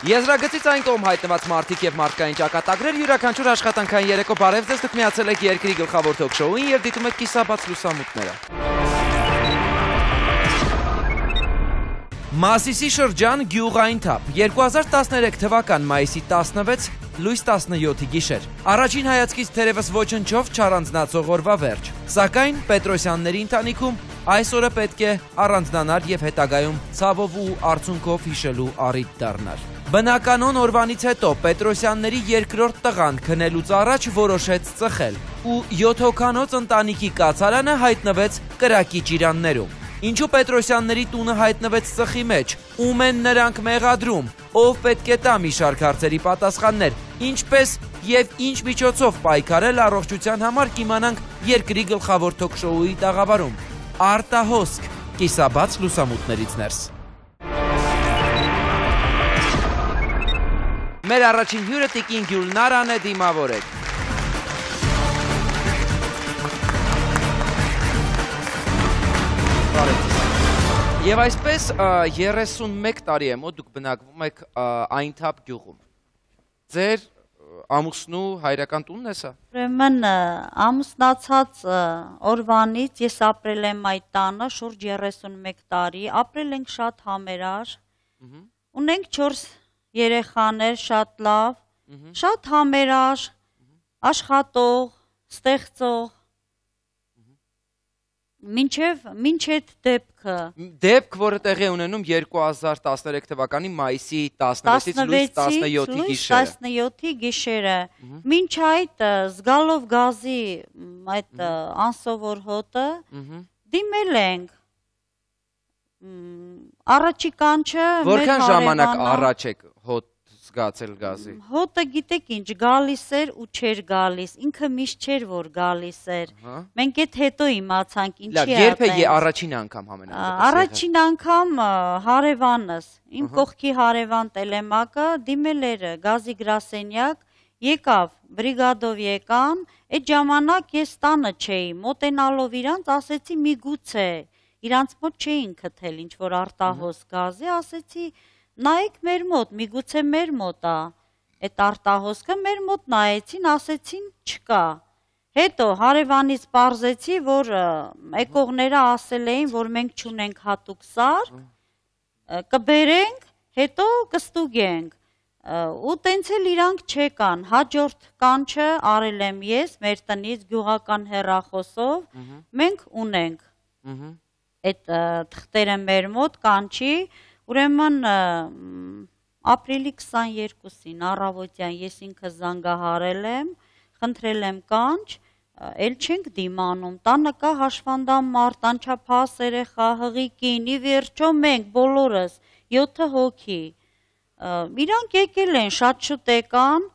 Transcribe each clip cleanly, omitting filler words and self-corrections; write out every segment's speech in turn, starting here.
Եզրագծից այն կողմ հայտնված մարդիկ և մարդկային ճակատագրեր յուրաքանչյուր աշխատանքային երեկո բարև ձեզ, դուք միացել եք երկրի գլխավոր թոք շոուին և դիտում եք կիսաբաց լուսամուտները։ Մասիսի շրջան գյուղային թափ 2013 թվական մայիսի 16 լույս 17-ի գիշեր։ Առաջին հայացքից թերևս ոչնչով չառանձնացող օրվա վերջ։ Սակայն Պետրոսյանների ընտանիքում այս օրը պետք է առանձնանար և հետագայում ցավով ու արցունքով հիշելու առիթ դառնար։ Բնականon օրվանից հետո Պետրոսյանների երկրորդ տղան քնելուց առաջ որոշեց ծխել ու 7 հոգանոց ընտանիքի կացարանը հայտնվեց կրակի ճիրաններում։ Ինչու Պետրոսյանների տունը հայտնվեց ծխի մեջ, ում են նրանք մեղադրում, ով պետք է տա մի շարք հարցերի պատասխաններ, ինչպես և ինչ միջոցով պայքարել առողջության համար կիմանանք երկրի գլխավոր թոք շոուի տաղավարում։ Արտահոսք, կիսաբաց լուսամուտներից ներս։ Մեր առաջին հյուրը տիկին Գյուլնարան է, դիմավորեք։ Եվ այսպես 31 տարի է մոտ դուք բնակվում եք Այնթափ գյուղում։ Ձեր ամուսնու հայրական տունն է սա։ Ուրեմն ամուսնացած օրվանից ես ապրել եմ այդ տանը շուրջ 31 տարի, ապրել ենք շատ համերար, ունենք 4 երեխաներ, շատ լավ, շատ համերար, աշխատող, ստեղծող, մինչև դեպքը։ Դեպք, որը տեղի է ունենում 2013 թվականի մայիսի 16-ից լույս 17-ի գիշերը։ 17-ի գիշերը։ Մինչ այդ զգալով գազի այդ անսովոր հոտը դիմել ենք։ Առաջի կանչը Որքան ժամանակ առաջ եք հոտ զգացել գազի։ Հոտը գիտեք ինչ, գալիս էր ու չէր գալիս, ինքը միշտ չէր որ գալիս էր։ Մենք այդ հետո իմացանք ինչի է։ Երբ է առաջին անգամ համենայնիվ։ Առաջին անգամ հարևանս, իմ կողքի հարևան Տելեմակը դիմել էր գազի գրասենյակ, եկավ, բրիգադով եկան, այդ ժամանակ ես տանը չէի, մոտենալով իրանց ասեցի միգուցե, իրանց մոտ չէին քթել ինչ որ արտահոս գազի, ասեցի նայեք մեր մոտ, միգուցե մեր մոտ է, այդ արտահոսքը մեր մոտ նայեցին, ասեցին չկա։ Հետո հարևանից պարզեցի, որ եկողները ասել էին, որ մենք չունենք հատուկ սար, կբերենք, հետո կստուգենք, ու տենց էլ իրանք չեկան, հաջորդ կանչը արել եմ ես, մեր տնից գյուղական հեռախոսով, մենք ունենք, այդ թղթերը մեր մոտ կանչի, Ուրեմն ապրիլի 22-ին առավոտյան ես ինքը զանգահարել եմ, խնդրել եմ կանչ, էլ չենք դիմանում, տանը կա հաշվանդամ մարդ, անչափահաս երեխա, հղիկին, ի վերջո մենք բոլորս 7 հոգի։ Իրանք եկել են, շատ շուտ եկան,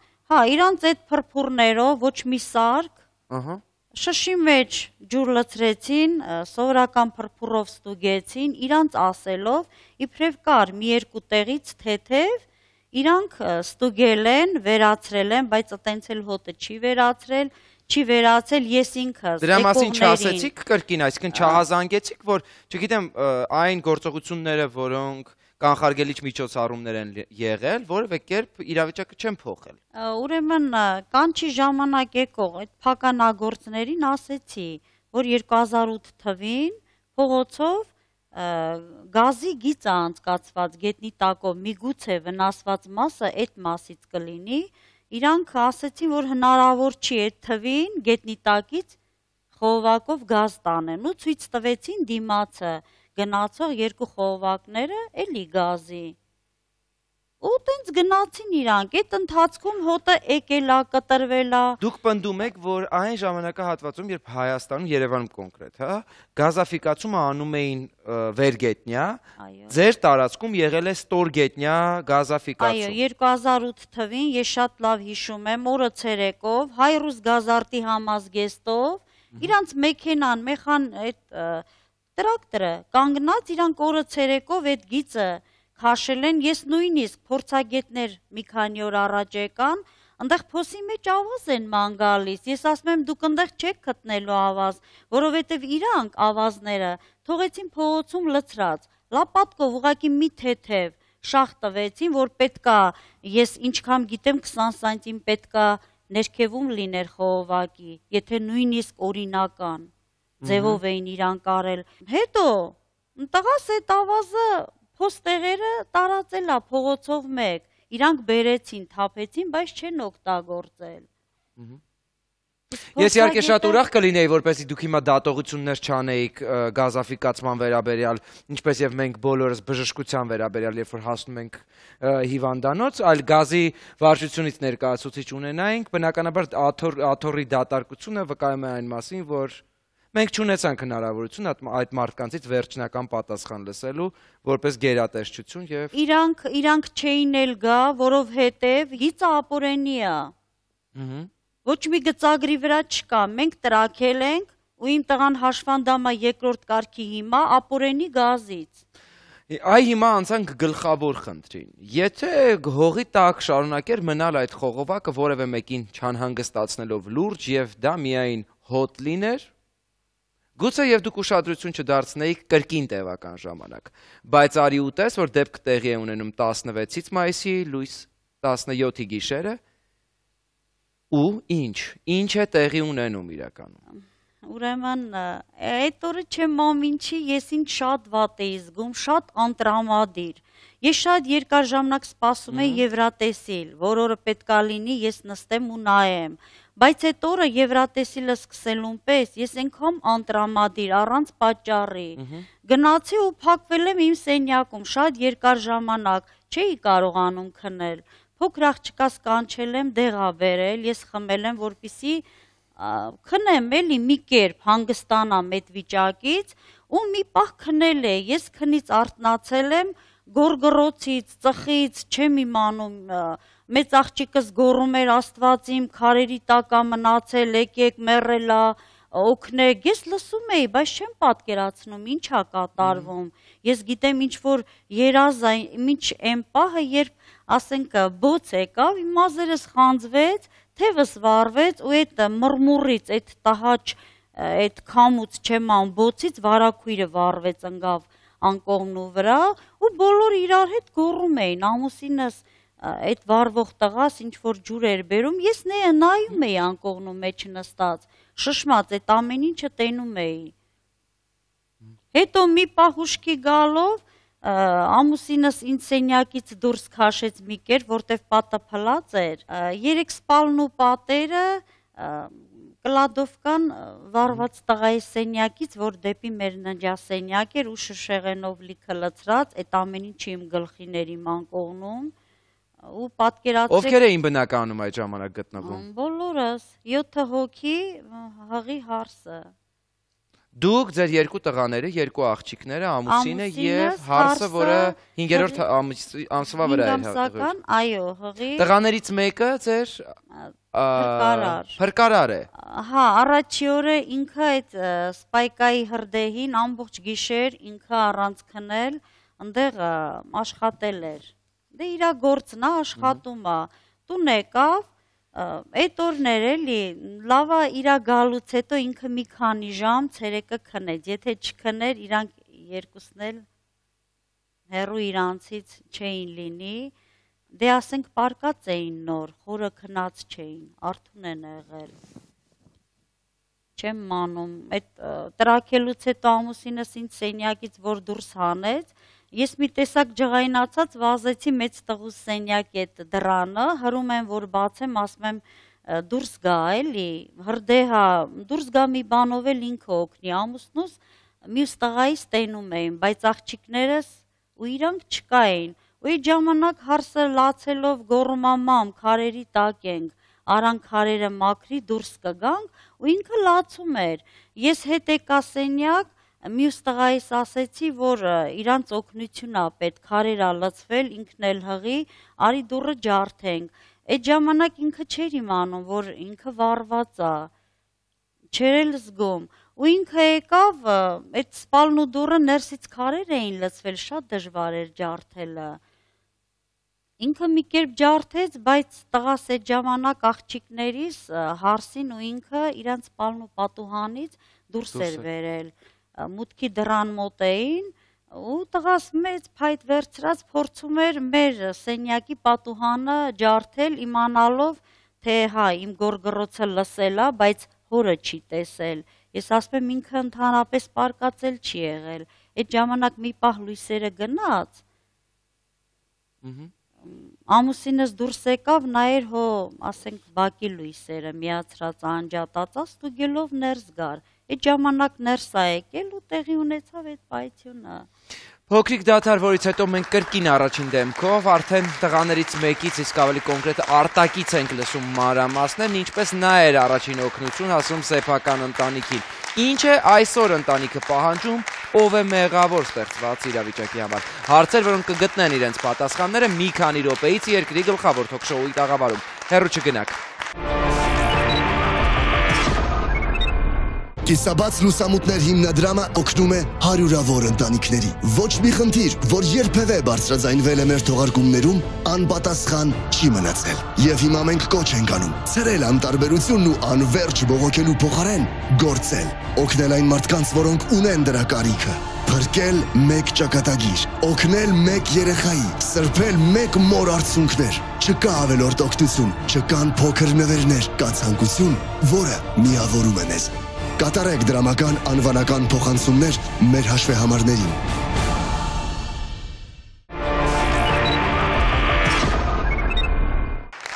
իրանց այդ փրփուրներով ոչ մի սարք, շշի մեջ ջուր լցրեցին, սովորական փրփուրով ստուգեցին, իրանց ասելով, իբրև կար մի երկու տեղից թեթև, իրանք ստուգել են, վերացրել են, բայց տենց էլ հոտը չի վերացրել, ես ինքս Դրա մասին չասեցիք կրկին, այսինքն չհազանգեցիք, որ, չգիտեմ, այն գործողությունները, որոնք կանխարգելիչ միջոցառումներ են եղել, որևէ կերպ իրավիճակը չեն փոխել։ Ուրեմն կանչի ժամանակ եկող այդ փականագործներին ասեցի, որ 2008 թվին փողոցով գազի գիծ է անցկացված գետնի տակով, միգուցե վնասված մասը այդ մասից կլինի, իրանք ասեցին, որ հնարավոր չի այդ թվին գետնի տակից խողովակով գազ տանեն ու ցույց տվեցին դիմացը գնացող երկու խողովակները էլի գազի։ Ու տենց գնացին իրանք, այդ ընթացքում հոտը եկել է, կտրվել է։ Դուք պնդում եք, որ այն ժամանակահատվածում, երբ Հայաստանում, Երևանում կոնկրետ, գազաֆիկացումը անում էին վերգետնյա, ձեր տարածքում եղել է ստորգետնյա գազաֆիկացում։ Այո, 2008 թվին ես շատ լավ հիշում եմ, օրը ցերեկով Հայրուս գազարտի համազգեստով, իրանց մեքենան, տրակտորը կանգնած, իրանք օրը ցերեկով այդ գիծը քաշել են, ես նույնիսկ փորձագետներ մի քանի օր առաջ եկան, այնտեղ փոսի մեջ ավազ են ման գալիս, ես ասում եմ դուք այնտեղ չեք գտնելու ավազ, որովհետև իրանք ավազները թողեցին փողոցում լցրած, լապատկով ուղղակի մի թեթև, շահ տվեցին, որ պետքա, ես ինչքան գիտեմ 20 սանտիմ պետքա ներքևում լիներ խողովակի, եթե նույնիսկ օրինական ձևով էին իրանք արել։ Հետո տղաս այդ ավազը փոստեղերը տարածելա փողոցով մեկ, իրանք բերեցին, թափեցին, բայց չեն օգտագործել։ Ես իհարկե շատ ուրախ կլինեի, որպեսզի դուք հիմա դատողություններ չանեիք գազաֆիկացման վերաբերյալ, ինչպես եւ մենք բոլորս բժշկության վերաբերյալ, երբ որ հասնում ենք հիվանդանոց, այլ գազի վարչությունից ներկայացուցիչ ունենայինք, բնականաբար աթոռի դատարկությունը վկայում է այն մասին, որ մենք չունեցանք հնարավորություն այդ մարդկանցից վերջնական պատասխան լսելու, որպես գերատեսչություն եւ իրանք չէին էլ գա, որովհետեւ գիծը ապօրենի է։ Ոչ մի գծագրի վրա չկա, մենք տրաքել ենք ու իմ տղան հաշվանդամա երկրորդ կարգի հիմա ապօրենի գազից։ Այ հիմա անցանք գլխավոր խնդրին։ Եթե հողի տակ շարունակեր մնալ այդ խողովակը որևէ մեկին չանհանգստացնելով լուրջ եւ դա միայն հոտ լիներ, գուցե եւ դուք ուշադրություն չդարձնեիք կրկին տևական ժամանակ, բայց արի ու տես, որ դեպքը տեղի է ունենում 16-ից մայիսի լույս 17-ի գիշերը, ու ինչ է տեղի ունենում իրականում։ Ուրեմն, այդ օրը չեմ ամինչի, ես ինձ շատ վատ էի զգում, շատ անտրամադիր։ Ես շատ երկար ժամանակ սպասում էի Եվրատեսիլ, որ օրը պետքա լինի, ես նստեմ ու նայեմ։ Բայց այդ օրը Եվրատեսիլը սկսելուն պես ես այնքան անտրամադիր, առանց պատճառի։ Գնացի ու փակվել եմ իմ սենյակում, շատ երկար ժամանակ չէի կարողանում քնել։ Փոքր աղջկաս կանչել եմ, դեղա բերել, ես խմել եմ, որպեսզի քնեմ էլի մի կերպ հանգստանամ այդ վիճակից ու մի պահ քնել է, ես քնից արթնացել եմ, գորգռոցից, ծխից, չեմ իմանում, մեծ աղջիկս գոռում էր Աստված իմ քարերի տակ է մնացել, եկեք մեռելա, օգնեք, ես լսում էի, բայց չեմ պատկերացնում ինչ է կատարվում։ Ես գիտեմ ինչ որ երազ է, ինչ այն պահը, երբ ասենք բոց եկավ, իմ մազերս խանձվեց, թևս վառվեց ու այդ մռմուռից, այդ տհաճ, այդ քամուց չեմ ան բոցից վարակույրը վառվեց ընկավ անկողնու վրա ու բոլորը իրար հետ գոռում էին, ամուսինս այդ վառվող տղաս ինչ որ ջուր էր բերում, ես նայում էի անկողնու մեջ նստած, շշմած այդ ամեն ինչը տենում էի։ Հետո մի պահ ուշքի գալով ամուսինս ինձ սենյակից դուրս քաշեց մի կեր, որտեվ պատը փլած էր, 3 սպալն ու պատերը կլադովկան վառված տղայի սենյակից, որ դեպի մեր ննջասենյակ էր ու շշեղենով լիքը լցրած, այդ ամեն ինչը իմ գլխին էր իմ անկողնում ու պատկերացրեք։ Ովքեր էին բնականում այդ ժամանակ գտնվում։ Բոլորս, 7 հոգի, հղի հարսը։ Դուք ձեր երկու տղաները, երկու աղջիկները, ամուսինը եւ հարսը, որը 5-րդ ամսվա վրա է։ Այո, հղի։ Տղաներից մեկը ձեր փրկարար է։ Հա, առաջի օրը ինքը այդ սպայկայի հրդեհին ամբողջ գիշեր ինքը առանց քնել, այնտեղ աշխատել էր։ Դե իր գործն է, աշխատում է։ Տուն եկավ, այդ օրներ էլի, լավա իրա գալուց հետո ինքը մի քանի ժամ ցերեկը քնեց, եթե չքներ իրանք երկուսն էլ հեռու իրանցից չէին լինի, դե ասենք պարկած էին նոր, խորը քնած չէին, արթուն են եղել։ Չեմ մանում, այդ տրաքելուց հետո ամուսինս ինձ սենյակից որ դուրս հանեց, ես մի տեսակ ջղայնացած վազեցի մեծ տղուս սենյակի այդ դռանը, հրում եմ որ բացեմ, ասում եմ դուրս գա էլի, հրդեհա, դուրս գա մի բանով էլ ինքը օգնի, ամուսնուս մյուս տղայից տենում էին, բայց աղջիկներս ու իրանք չկային, ու այդ ժամանակ հարսը լացելով գոռում մամ, քարերի տակ ենք, արան քարերը մաքրի, դուրս կգանք, ու ինքը լացում էր, ես հետ եկա սենյակ, մյուս տղայիս ասեցի, որ իրանց օգնություն է պետք, քարեր ա լցվել, ինքն էլ հղի, արի դուռը ջարդենք։ Այդ ժամանակ ինքը չէր իմանում, որ ինքը վառված է, չէր էլ զգում, ու ինքը եկավ, այդ սպալն ու դուռը ներսից քարեր էին լցվել, շատ դժվար էր ջարդելը։ Ինքը մի կերպ ջարդեց, բայց տղաս այդ ժամանակ աղջիկներիս հարսին ու ինքը իրանց սպալն ու պատուհանից դուրս էր վերել։ Մուտքի դռան մոտ էին, ու տղաս մեծ փայտ վերցրած փորձում էր մեր սենյակի պատուհանը ջարդել, իմանալով, թե հա իմ գորգռոցը լսել է, բայց հորը չի տեսել։ Ես ասում եմ ինքը ընդհանրապես պարկածել չի եղել։ Այդ ժամանակ մի պահ լույսերը գնաց։ Ամուսինս դուրս եկավ, նայեր հո, ասենք, բակի լույսերը միացրած անջատածած, ստուգելով ներս գար։ Այդ ժամանակ ներս ա եկել ու տեղի ունեցավ այդ պայթյունը։ Փոքրիկ դադար, որից հետո մենք կրկին առաջին դեմքով արդեն տղաներից մեկից, իսկ ավելի կոնկրետ արտակից ենք լսում մանրամասներն, ինչպես նա էր առաջին օգնություն հասում սեփական ընտանիքին։ Ինչ է այսօր ընտանիքը պահանջում, ով է մեղավոր ստեղծված իրավիճակի համար։ Հարցեր, որոնք կգտնեն իրենց պատասխանները մի քանի րոպեից երկրի գլխավոր թոք-շոուի տաղավարում։ Հեռու չգնաք։ Կիսաբաց լուսամուտներ հիմնադրամը օգնում է հարյուրավոր ընտանիքների։ Ոչ մի խնդիր, որ երբևէ բարձրաձայնվել է մեր թողարկումներում, անպատասխան չի մնացել։ Եվ հիմա մենք կոչ ենք անում ցրել անտարբերությունն ու անվերջ բողոքելու փոխարեն գործել, օգնել այն մարդկանց, որոնք ունեն դրա կարիքը, փրկել մեկ ճակատագիր, օգնել մեկ երեխայի, սրբել մեկ մոր արցունքներ։ Չկա ավելորդ օգնություն, չկան փոքր նվերներ, կա ցանկություն, որը միավորում է մեզ։ Կատարեք դրամական անվանական փոխանցումներ մեր հաշվեհամարներին։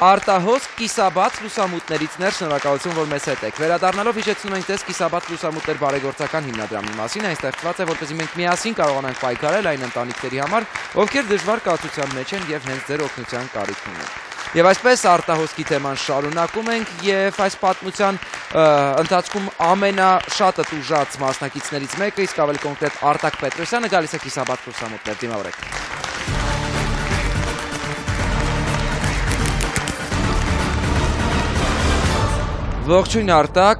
Արտահոսք կիսաբաց լուսամուտներից ներ, շնորհակալություն, որ մեզ հետ եք։ Վերադառնալով հիշեցնում ենք ձեզ կիսաբաց լուսամուտներ բարեգործական հիմնադրամի մասին, այն ստեղծված է, որպեսզի մենք միասին կարողանանք պայքարել այն ընտանիքների համար, ովքեր դժվար կացության մեջ են եւ հենց ձեր օգնության կարիք ունեն։ Եվ այսպես արտահոսքի թեման շարունակում ենք եւ այս պատմության ընթացքում ամենաշատը տուժած մասնակիցներից մեկը, իսկ ավելի կոնկրետ Արտակ Պետրոսյանը գալիս է կիսաբաց լուսամուտներ, դիմավորեք։ Ողջույն Արտակ,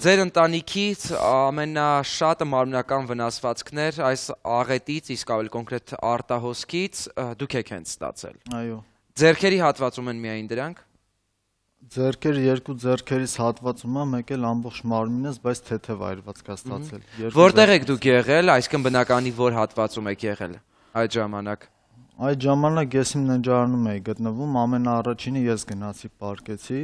ձեր ընտանիքից ամենաշատը մարմնական վնասվածքներ այս աղետից, իսկ ավելի կոնկրետ արտահոսքից դուք եք հենց ստացել։ Այո։ Ձեռքերի հատվածում են միայն դրանք։ Ձեռքերի երկու ձեռքերից հատվածում է, մեկ էլ ամբողջ մարմինս, բայց թեթև այրված կա ստացել։ Որտեղ եք դուք եղել, այսինքն բնականի որ հատվածում եք եղել այդ ժամանակ։ Այդ ժամանակ ես իմ ննջարանում էի գտնվում, ամենաառաջինը ես գնացի պարկեցի։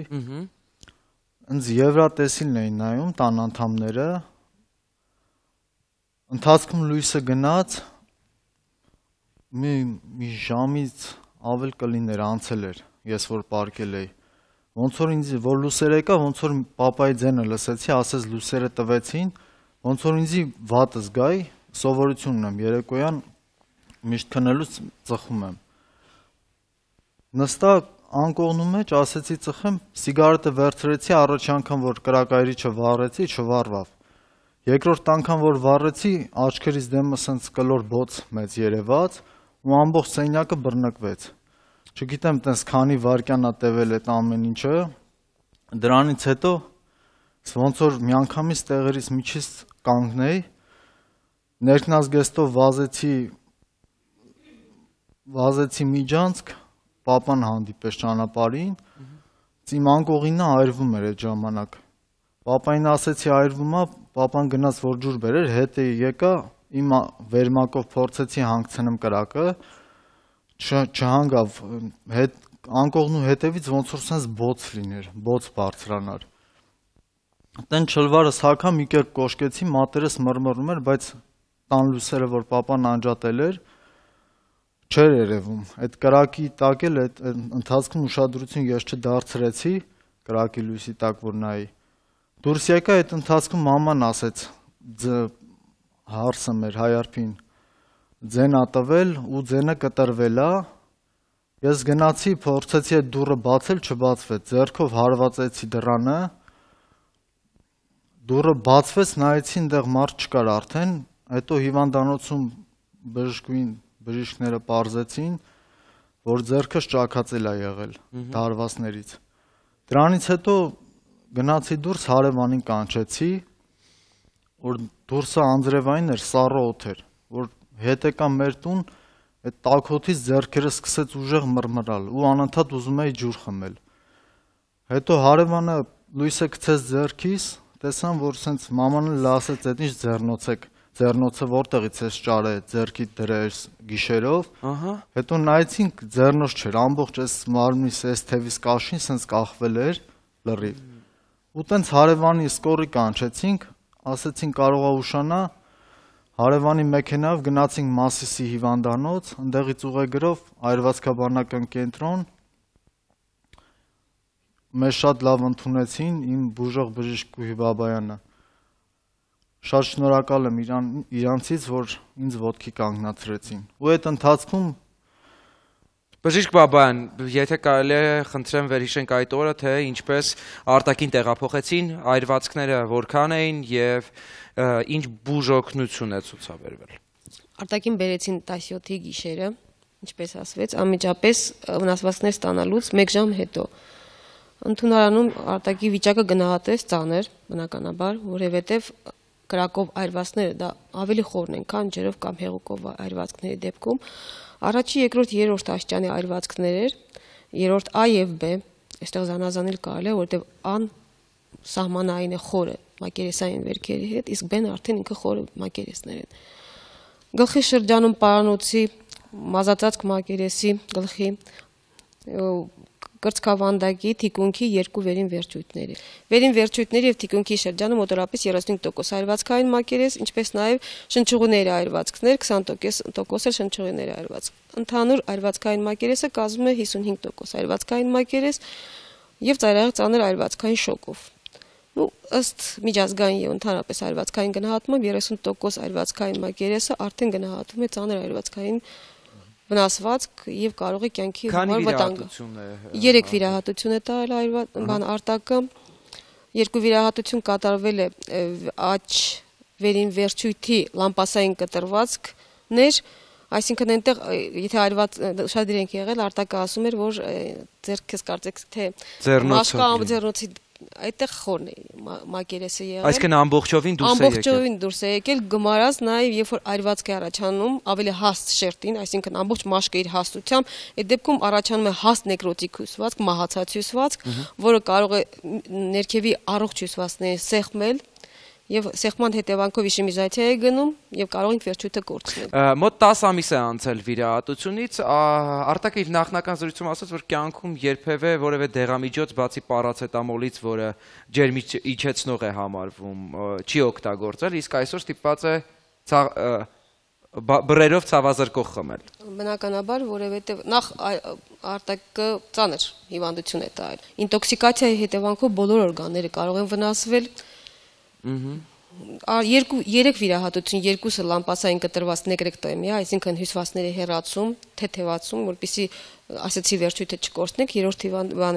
Ինձ Եվրատեսիլն էին նայում տան անդամները։ Ընթացքում լույսը գնաց, մի ժամից ավել կլիներ անցել էր, ես որ պարկել էի։ Ոնց որ ինձ որ լույսերը եկա, ոնց որ պապայի ձենը լսեցի, ասես լույսերը տվեցին, ոնց որ ինձ վատ զգայի, սովորություն ունեմ երեկոյան միշտ քնելուց ծխում եմ։ Նստա անկողնու մեջ ասեցի ծխեմ, սիգարետը վերցրեցի, առաջ անգամ որ կրակայրիչը վառեցի, չվառվավ։ Երկրորդ անգամ որ վառեցի, աչքերից դեմս սենց կլոր բոց մեծ երևաց ու ամբողջ սենյակը բռնկվեց։ Չգիտեմ տես քանի վայրկյան ա տևել այդ ամեն ինչը։ Դրանից հետո ոնց որ միանգամից տեղերից միջից կանգնեի, ներքնազգեստով վազեցի միջանցք, պապան հանդիպես ճանապարհին, իմ անկողինը այրվում էր այդ ժամանակ։ Պապային ասեցի այրվում է, պապան գնաց որ ջուր բերեր, հետ եկա, իմ վերմակով փորձեցի հանգցնեմ կրակը, չհանգավ, անկողնու հետևից ոնց որ սենց բոց լիներ, բոց բարձրանար։ Տեն չլվարս հագա մի կերպ կոշկեցի, մատերս մռմռում էր, բայց տան լույսերը որ պապան անջատել էր, չէր երևում, այդ կրակի տակ էլ այդ ընթացքում ուշադրություն ես չդարձրեցի, կրակի լույսի տակ որ նայի։ Դուրս եկա այդ ընթացքում մաման ասեց, հարսը մեր հայարփին, ձեն ա տվել ու ձենը կտրվել է, ես գնացի, փորձեցի այդ դուռը բացել, չբացվեց, ձեռքով հարվածեցի դռանը, դուռը բացվեց, նայեցի, այնտեղ մարդ չկար արդեն, հետո հիվանդանոցում բժիշկները պարզեցին, որ ձեռքս ճաքածել է եղել դարվածներից։ Դրանից հետո գնացի դուրս, հարևանին կանչեցի, որ դուրսը անձրևային էր, սառը օդ էր, որ հետ եկա մեր տուն, այդ տաքոթից ձեռքերը սկսեց ուժեղ մռմռալ ու անընդհատ ուզում էի ջուր խմել։ Հետո հարևանը լույսը գցեց ձեռքիս, տեսան, որ սենց մաման էլ ասեց, այդ ինչ ձեռնոց եք, ձեռնոցը որտեղից էս ճարը ձեռքի դրես գիշերով, Ահա։ հետո նայեցինք ձեռնոց չէր, ամբողջ այս մարմնիս այս թևիս կաշին սենց կախվել էր լրիվ։ Ու տենց հարևանի սկորի կանչեցինք, ասեցինք կարող է ուշանա, հարևանի մեքենայով գնացինք Մասիսի հիվանդանոց, ընդեղից ուղեգրով այրվածքաբանական կենտրոն, մեզ շատ լավ ընդունեցին իմ բուժող բժիշկ Կուհի Բաբայանը։ Շատ շնորհակալ եմ իրանցից, որ ինձ ոտքի կանգնացրեցին։ Ու այդ ընթացքում Բժիշկ Բաբայան, եթե կարելի է խնդրեմ վերհիշենք այդ օրը, թե ինչպես արտաքին տեղափոխեցին, այրվածքները որքան էին եւ ինչ բուժօգնություն է ցուցաբերվել։ Արտաքին բերեցին 17-ի գիշերը, ինչպես ասվեց, անմիջապես վնասվածքներ ստանալուց 1 ժամ հետո։ Ընդունարանում արտակի վիճակը գնահատեց ծանր, բնականաբար, որովհետև կրակով այրվածքները դա ավելի խորն են, քան ջրով կամ հեղուկով այրվածքների դեպքում։ Առաջի, երկրորդ, երրորդ աստիճանի այրվածքներ էր, երրորդ A եւ B, այստեղ զանազանել կարելի է, որովհետև A-ն սահմանային է խորը մակերեսային վերքերի հետ, իսկ B-ն արդեն ինքը խորը մակերեսներ են։ Գլխի շրջանում պարանոցի, մազածածկ մակերեսի, գլխի կրծքավանդակի, թիկունքի 2 վերին վերջույթների։ Վերին վերջույթների եւ թիկունքի շրջանում մոտավորապես 35% այրվածքային մակերես, ինչպես նաեւ շնչուղիների այրվածքներ, 20% էլ շնչուղիների այրվածք։ Ընդհանուր այրվածքային մակերեսը կազմում է 55% այրվածքային մակերես եւ ծայրահեղ ծանր այրվածքային շոկով։ Ըստ միջազգային եւ ընդհանրապես այրվածքային գնահատմամբ 30% այրվածքային մակերեսը արդեն գնահատվում է ծանր այրվածքային վնասվածք եւ կարող է կյանքի վտանգ։ 3 վիրահատություն է տարել բան արտակը, 2 վիրահատություն կատարվել է աջ վերին վերջույթի լամպասային կտրվածքներ, այսինքն այնտեղ եթե այրված շատ դրանք եղել արտակը ասում էր որ ձեռքս կարծեք թե ձեռնոցի այդտեղ խորն է մակերեսը եղել։ Այսինքն ամբողջովին դուրս է եկել։ Ամբողջովին դուրս է եկել, գմարած նաև երբ որ այրվածք է առաջանում, ավելի հաստ շերտին, այսինքն ամբողջ մաշկը իր հաստությամբ, այդ դեպքում առաջանում է հաստ նեկրոտիկ հյուսվածք, մահացած հյուսվածք, որը կարող է ներքևի առողջ հյուսվածքներին սեղմել եւ սեղման հետևանքով իշեմիզացիա է գնում եւ կարող ենք վերջույթը կորցնել։ Մոտ 10 ամիս է անցել վիրահատությունից, Արտակը իր նախնական զրույցում ասաց, որ կյանքում երբևէ որևէ դեղամիջոց բացի պարացետամոլից, որը ջերմիջեցնող է համարվում, չի օգտագործել, իսկ այսօր ստիպված է բռերով ցավազրկող խմել։ Բնականաբար, որովհետեւ նախ Արտակը ծանր հիվանդություն է տալ։ Ինտոքսիկացիայի հետևանքով բոլոր օրգանները կարող են վնասվել։ 3 վիրահատություն, 2-ը լամպասային կտրված նեկրեկտոմիա, այսինքն հյուսվածքների հեռացում, թեթևացում, որպեսզի ասեցի վերջույթը չկորցնենք, 3-րդ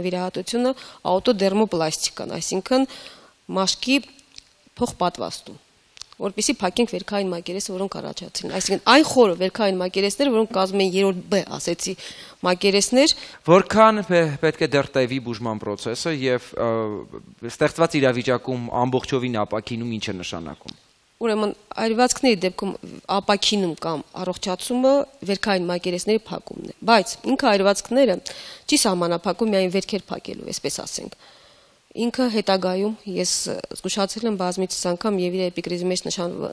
վիրահատությունը աուտոդերմոպլաստիկան, այսինքն մաշկի փոխպատվաստում, որպեսզի փակենք վերքային մակերեսը, որոնք առաջացրին, այսինքն այն խորը վերքային մակերեսները, որոնք կազմում են 3-րդ B, ասեցի, մակերեսներ, որքան պետք է դեռ տևի բուժման process-ը եւ ստեղծված իրավիճակում ամբողջովին ապակինում ինչ է նշանակում։ Ուրեմն այրվածքների դեպքում ապակինում կամ առողջացումը վերքային մակերեսների փակումն է, բայց ինքը այրվածքները չի սահմանափակում միայն վերքեր փակելու, այսպես ասենք։ Ինքը հետագայում ես զգուշացել եմ բազմիցս անգամ եւ իր էպիկրիզի մեջ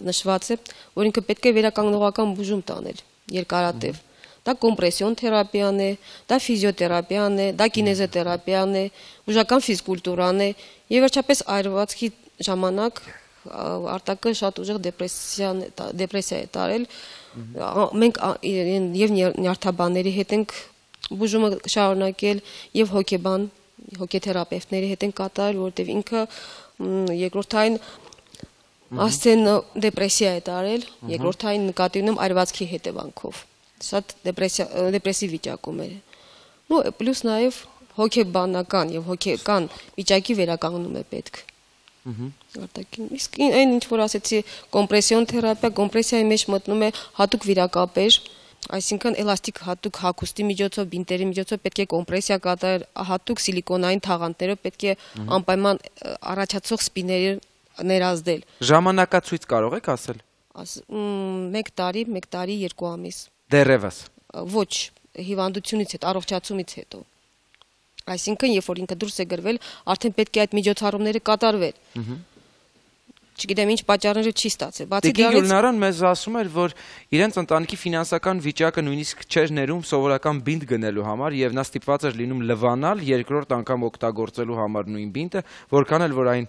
նշված է, որ ինքը պետք է վերականգնողական բուժում տանել երկարատև։ Դա կոմպրեսիոն թերապիան է, դա ֆիզիոթերապիան է, դա կինեզոթերապիան է, բուժական ֆիզկուլտուրան է եւ վերջապես այրվածքի ժամանակ Արտակը շատ ուժեղ դեպրեսիա է տարել։ Մենք եւ նյարդաբանների հետ ենք բուժումը շարունակել եւ հոգեթերապևտների հետ ենք կատարել, որտեղ ինքը երկրորդային ասցեն դեպրեսիա է տարել, երկրորդային նկատի ունեմ այրվածքի հետևանքով։ Շատ դեպրեսիվ վիճակում էր։ Ու պլյուս նաև հոգեբանական եւ հոգեկան վիճակի վերականգնում է պետք։ Արտակին իսկ այն ինչ որ ասեցի կոմպրեսիոն թերապիա, կոմպրեսիայի մեջ մտնում է հատուկ վիրակապեր, այսինքն էլաստիկ հատուկ հագուստի միջոցով, բինտերի միջոցով պետք է կոմպրեսիա կատարել, հատուկ սիլիկոնային թաղանթներով պետք է անպայման առաջացող սպիների ներազդել։ Ժամանակացույց կարող եք ասել։ 1 տարի, 2 ամիս։ Դեռևս։ Ոչ, հիվանդությունից հետո, առողջացումից հետո։ Այսինքն, երբ որ ինքը դուրս է գրվել, արդեն պետք է այդ միջոցառումները կատարվել։ չգիտեմ ինչ պատճառներով չի ստացել։ Բացի Տիկին դրանից Գյուլնարան մեզ ասում էր, որ իրենց ընտանիքի ֆինանսական վիճակը նույնիսկ չէր ներում սովորական բինտ գնելու համար եւ նա ստիպված էր լինում լվանալ երկրորդ անգամ օգտագործելու համար նույն բինտը, որքան էլ որ այն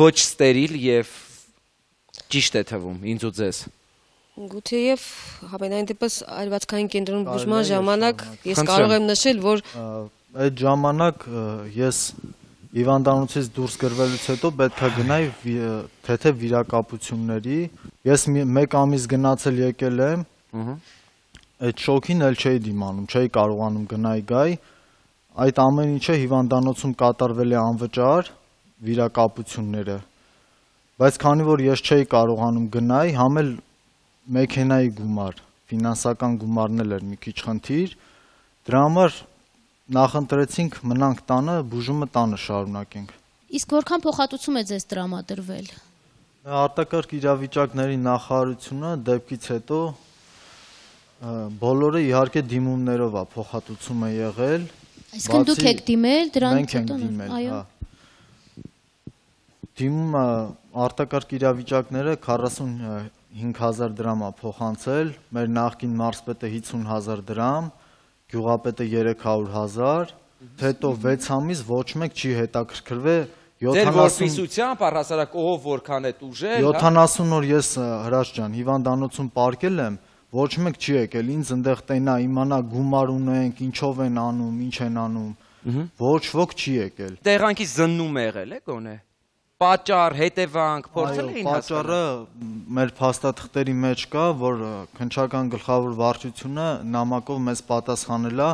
ոչ ստերիլ եւ ճիշտ է թվում ինձ ու ձեզ։ Գուցեև համենայն դեպս այրվածքային կենտրոնում բուժման ժամանակ ես կարող եմ նշել, որ այդ ժամանակ ես հիվանդանոցից դուրս գրվելուց հետո պետք է գնայի թեթև վիրակապությունների։ Ես 1 ամիս գնացել եկել եմ։ Այդ շոկին էլ չէի դիմանում, չէի կարողանում գնայի գայի։ Այդ ամեն ինչը հիվանդանոցում կատարվել է անվճար վիրակապությունները։ Բայց քանի որ ես չէի կարողանում գնայի, համ էլ մեքենայի գումար, ֆինանսական գումարն էլ էր մի քիչ խնդիր, դրա համար նախընտրեցինք մնանք տանը, բուժումը տանը շարունակենք։ Իսկ որքան փոխհատուցում է ձեզ տրամադրվել։ Արտակարգ իրավիճակների նախարարությունը դեպքից հետո բոլորը իհարկե դիմումներով է փոխհատուցում է եղել։ Այսինքն դուք եք դիմել դրանից հետո։ Այո։ Դիմումը արտակարգ իրավիճակները 45,000 դրամ է փոխանցել, մեր նախկին մարզպետը 50,000 դրամ, գյուղապետը 300,000, հետո 6 ամիս ոչ մեկ չի հետաքրքրվել 70 Ձեր որպիսությամբ առհասարակ ով որքան է ուժել, 70 օր ես Հրաշ ջան հիվանդանոցում պարկել եմ, ոչ մեկ չի եկել ինձ այնտեղ տենա իմանա գումար ունենք, ինչով են անում, ինչ են անում, ոչ ոք չի եկել։ Տեղանքի զննում է եղել է գոնե։ Պատճառ, հետևանք, փորձել էին հասկանալ։ Պատճառը մեր փաստաթղթերի մեջ կա, որ քննչական գլխավոր վարչությունը նամակով մեզ պատասխանել է,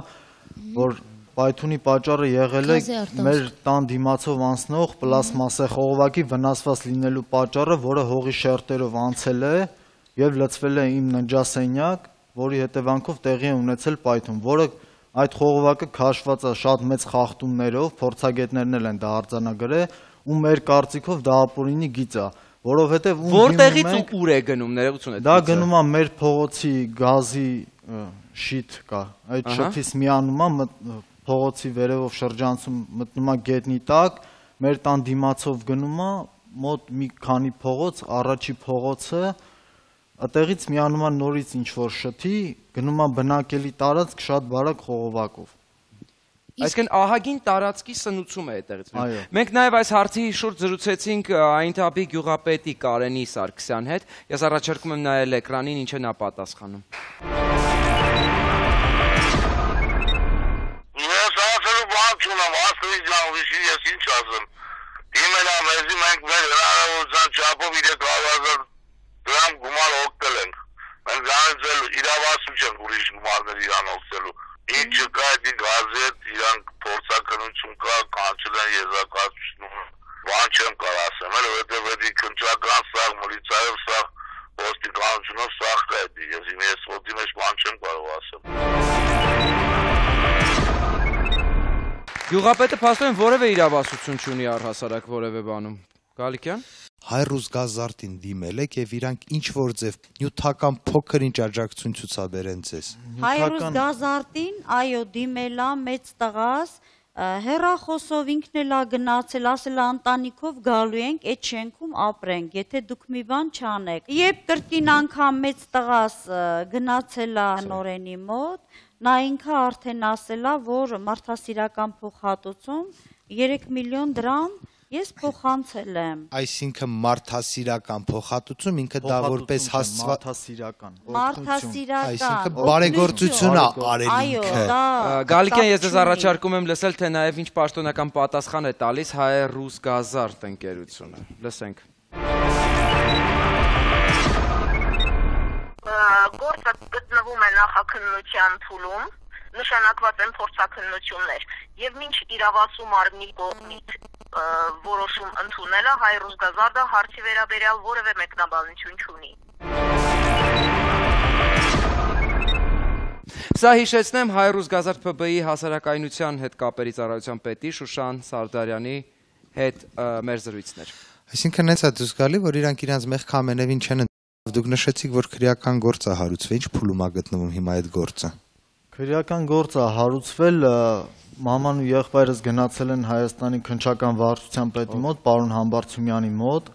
որ պայթունի պատճառը եղել է մեր տան դիմացով անցնող պլաստմասե խողովակի վնասված լինելու պատճառը, որը հողի շերտերով անցել է եւ լցվել է իմ ննջասենյակ, որի հետևանքով տեղի է ունեցել պայթուն, որը այդ խողովակը քաշված է շատ մեծ խախտումներով, փորձագետներն էլ են դա արձանագրել ու մեր կարծիքով դա ապօրինի գիծ է, որովհետև որտեղից ու ուր է գնում ներողություն է։ Դա գնում է մեր փողոցի գազի շիթ կա, այդ շփից միանում է փողոցի վերևով շրջանցում մտնում է գետնի տակ, մեր տան դիմացով գնում է մոտ մի քանի փողոց, առաջի փողոցը այդտեղից միանում է նորից ինչ որ շթի, գնում է բնակելի տարածք շատ բարակ խողովակով։ Այսինքն ահագին տարածքի սնուցում է այդտեղից։ Մենք նաև այս հարցի շուրջ զրուցեցինք Այնթապի գյուղապետի Կարենի Սարգսյան հետ։ Ես առաջարկում եմ նայել էկրանին, ինչ է նա պատասխանում։ Ես ասելու բան չունեմ, ասելի ջան, ուրիշի ես ինչ ասեմ։ Դիմել ա մեզի մենք մեր հնարավորության չափով 300,000 դրամ գումար օգտել ենք։ Մենք դրանից էլ իրավասու չենք ուրիշ գումարներ իրան օգտելու։ Ինչ կա դի գազետ իրանք փորձակնություն կա, կանչել են եզրակացությունը, բան չեմ կարող ասեմ, որովհետև դի քննչական սաղ, միլիցիայով սաղ, ոստիկանությունով սաղ կա դի, ես ոդի մեջ բան չեմ կարող ասեմ։ Գյուղապետը փաստորեն որևէ իրավասություն չունի առհասարակ որևէ բանում։ Գալիկյան։ Հայրուզգազարտին դիմել եք եւ իրանք ինչ որ ձև նյութական փոքր ինչ աջակցություն ցուցաբերեն ձեզ։ Հայրուզգազարտին, այո, դիմել ա մեծ տղաս, հեռախոսով ինքն էլ ա գնացել, ասել ա ընտանիքով գալու ենք, այդ շենքում ապրենք, եթե դուք մի բան չանեք։ Երբ կրկին անգամ մեծ տղաս գնացել ա Նորենի մոտ, նա ինքը արդեն ասել ա, որ մարդասիրական փոխհատուցում 3 միլիոն դրամ ես փոխանցել եմ։ Այսինքն մարդասիրական փոխհատուցում ինքը դա որպես հասցված մարդասիրական։ Այսինքն բարեգործություն է արել ինքը։ Այո, դա Գալիկյան, ես ձեզ առաջարկում եմ լսել, թե նաև ինչ պաշտոնական պատասխան է տալիս Հայրուզգազարտ ընկերությունը։ Լսենք։ Գործը գտնվում է նախաքննության փուլում, նշանակված են փորձաքննություններ եւ մինչ իրավասու մարմնի կողմից որոշում ընդունելը Հայրուզգազարտը հարցի վերաբերյալ որևէ մեկնաբանություն չունի։ Սա հիշեցնեմ Հայրուզգազարտ ՓԲ-ի հասարակայնության հետ կապերի ծառայության պետի Շուշան Սարդարյանի հետ մեր զրույցներ։ Այսինքն հենց է դուս գալի, որ իրանք իրանց մեղք ամենևին չեն դուք նշեցիք, որ քրեական գործ է հարուցվել, ինչ փուլում է գտնվում հիմա այդ գործը։ Քրեական գործը հարուցվել, մաման ու եղբայրս գնացել են Հայաստանի քննչական վարչության պետի մոտ, պարոն Համբարձումյանի մոտ,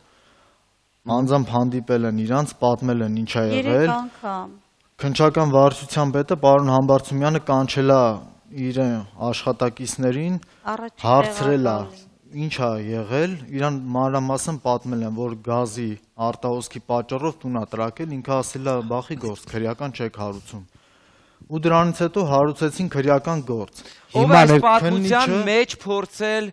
անձամբ հանդիպել են իրանց, պատմել են ինչ է 3 եղել։ անգամ։ Քննչական վարչության պետը պարոն Համբարձումյանը կանչել է իր աշխատակիցներին, հարցրել է ինչ է եղել, իրան մանրամասն պատմել են, որ գազի արտահոսքի պատճառով տուն է տրակել, ինքը ասել է բախի գործ, քրեական չեք հարուցում։ Ու դրանից հետո հարուցեցին քրեական գործ։ Ով այս պատմության մեջ փորձել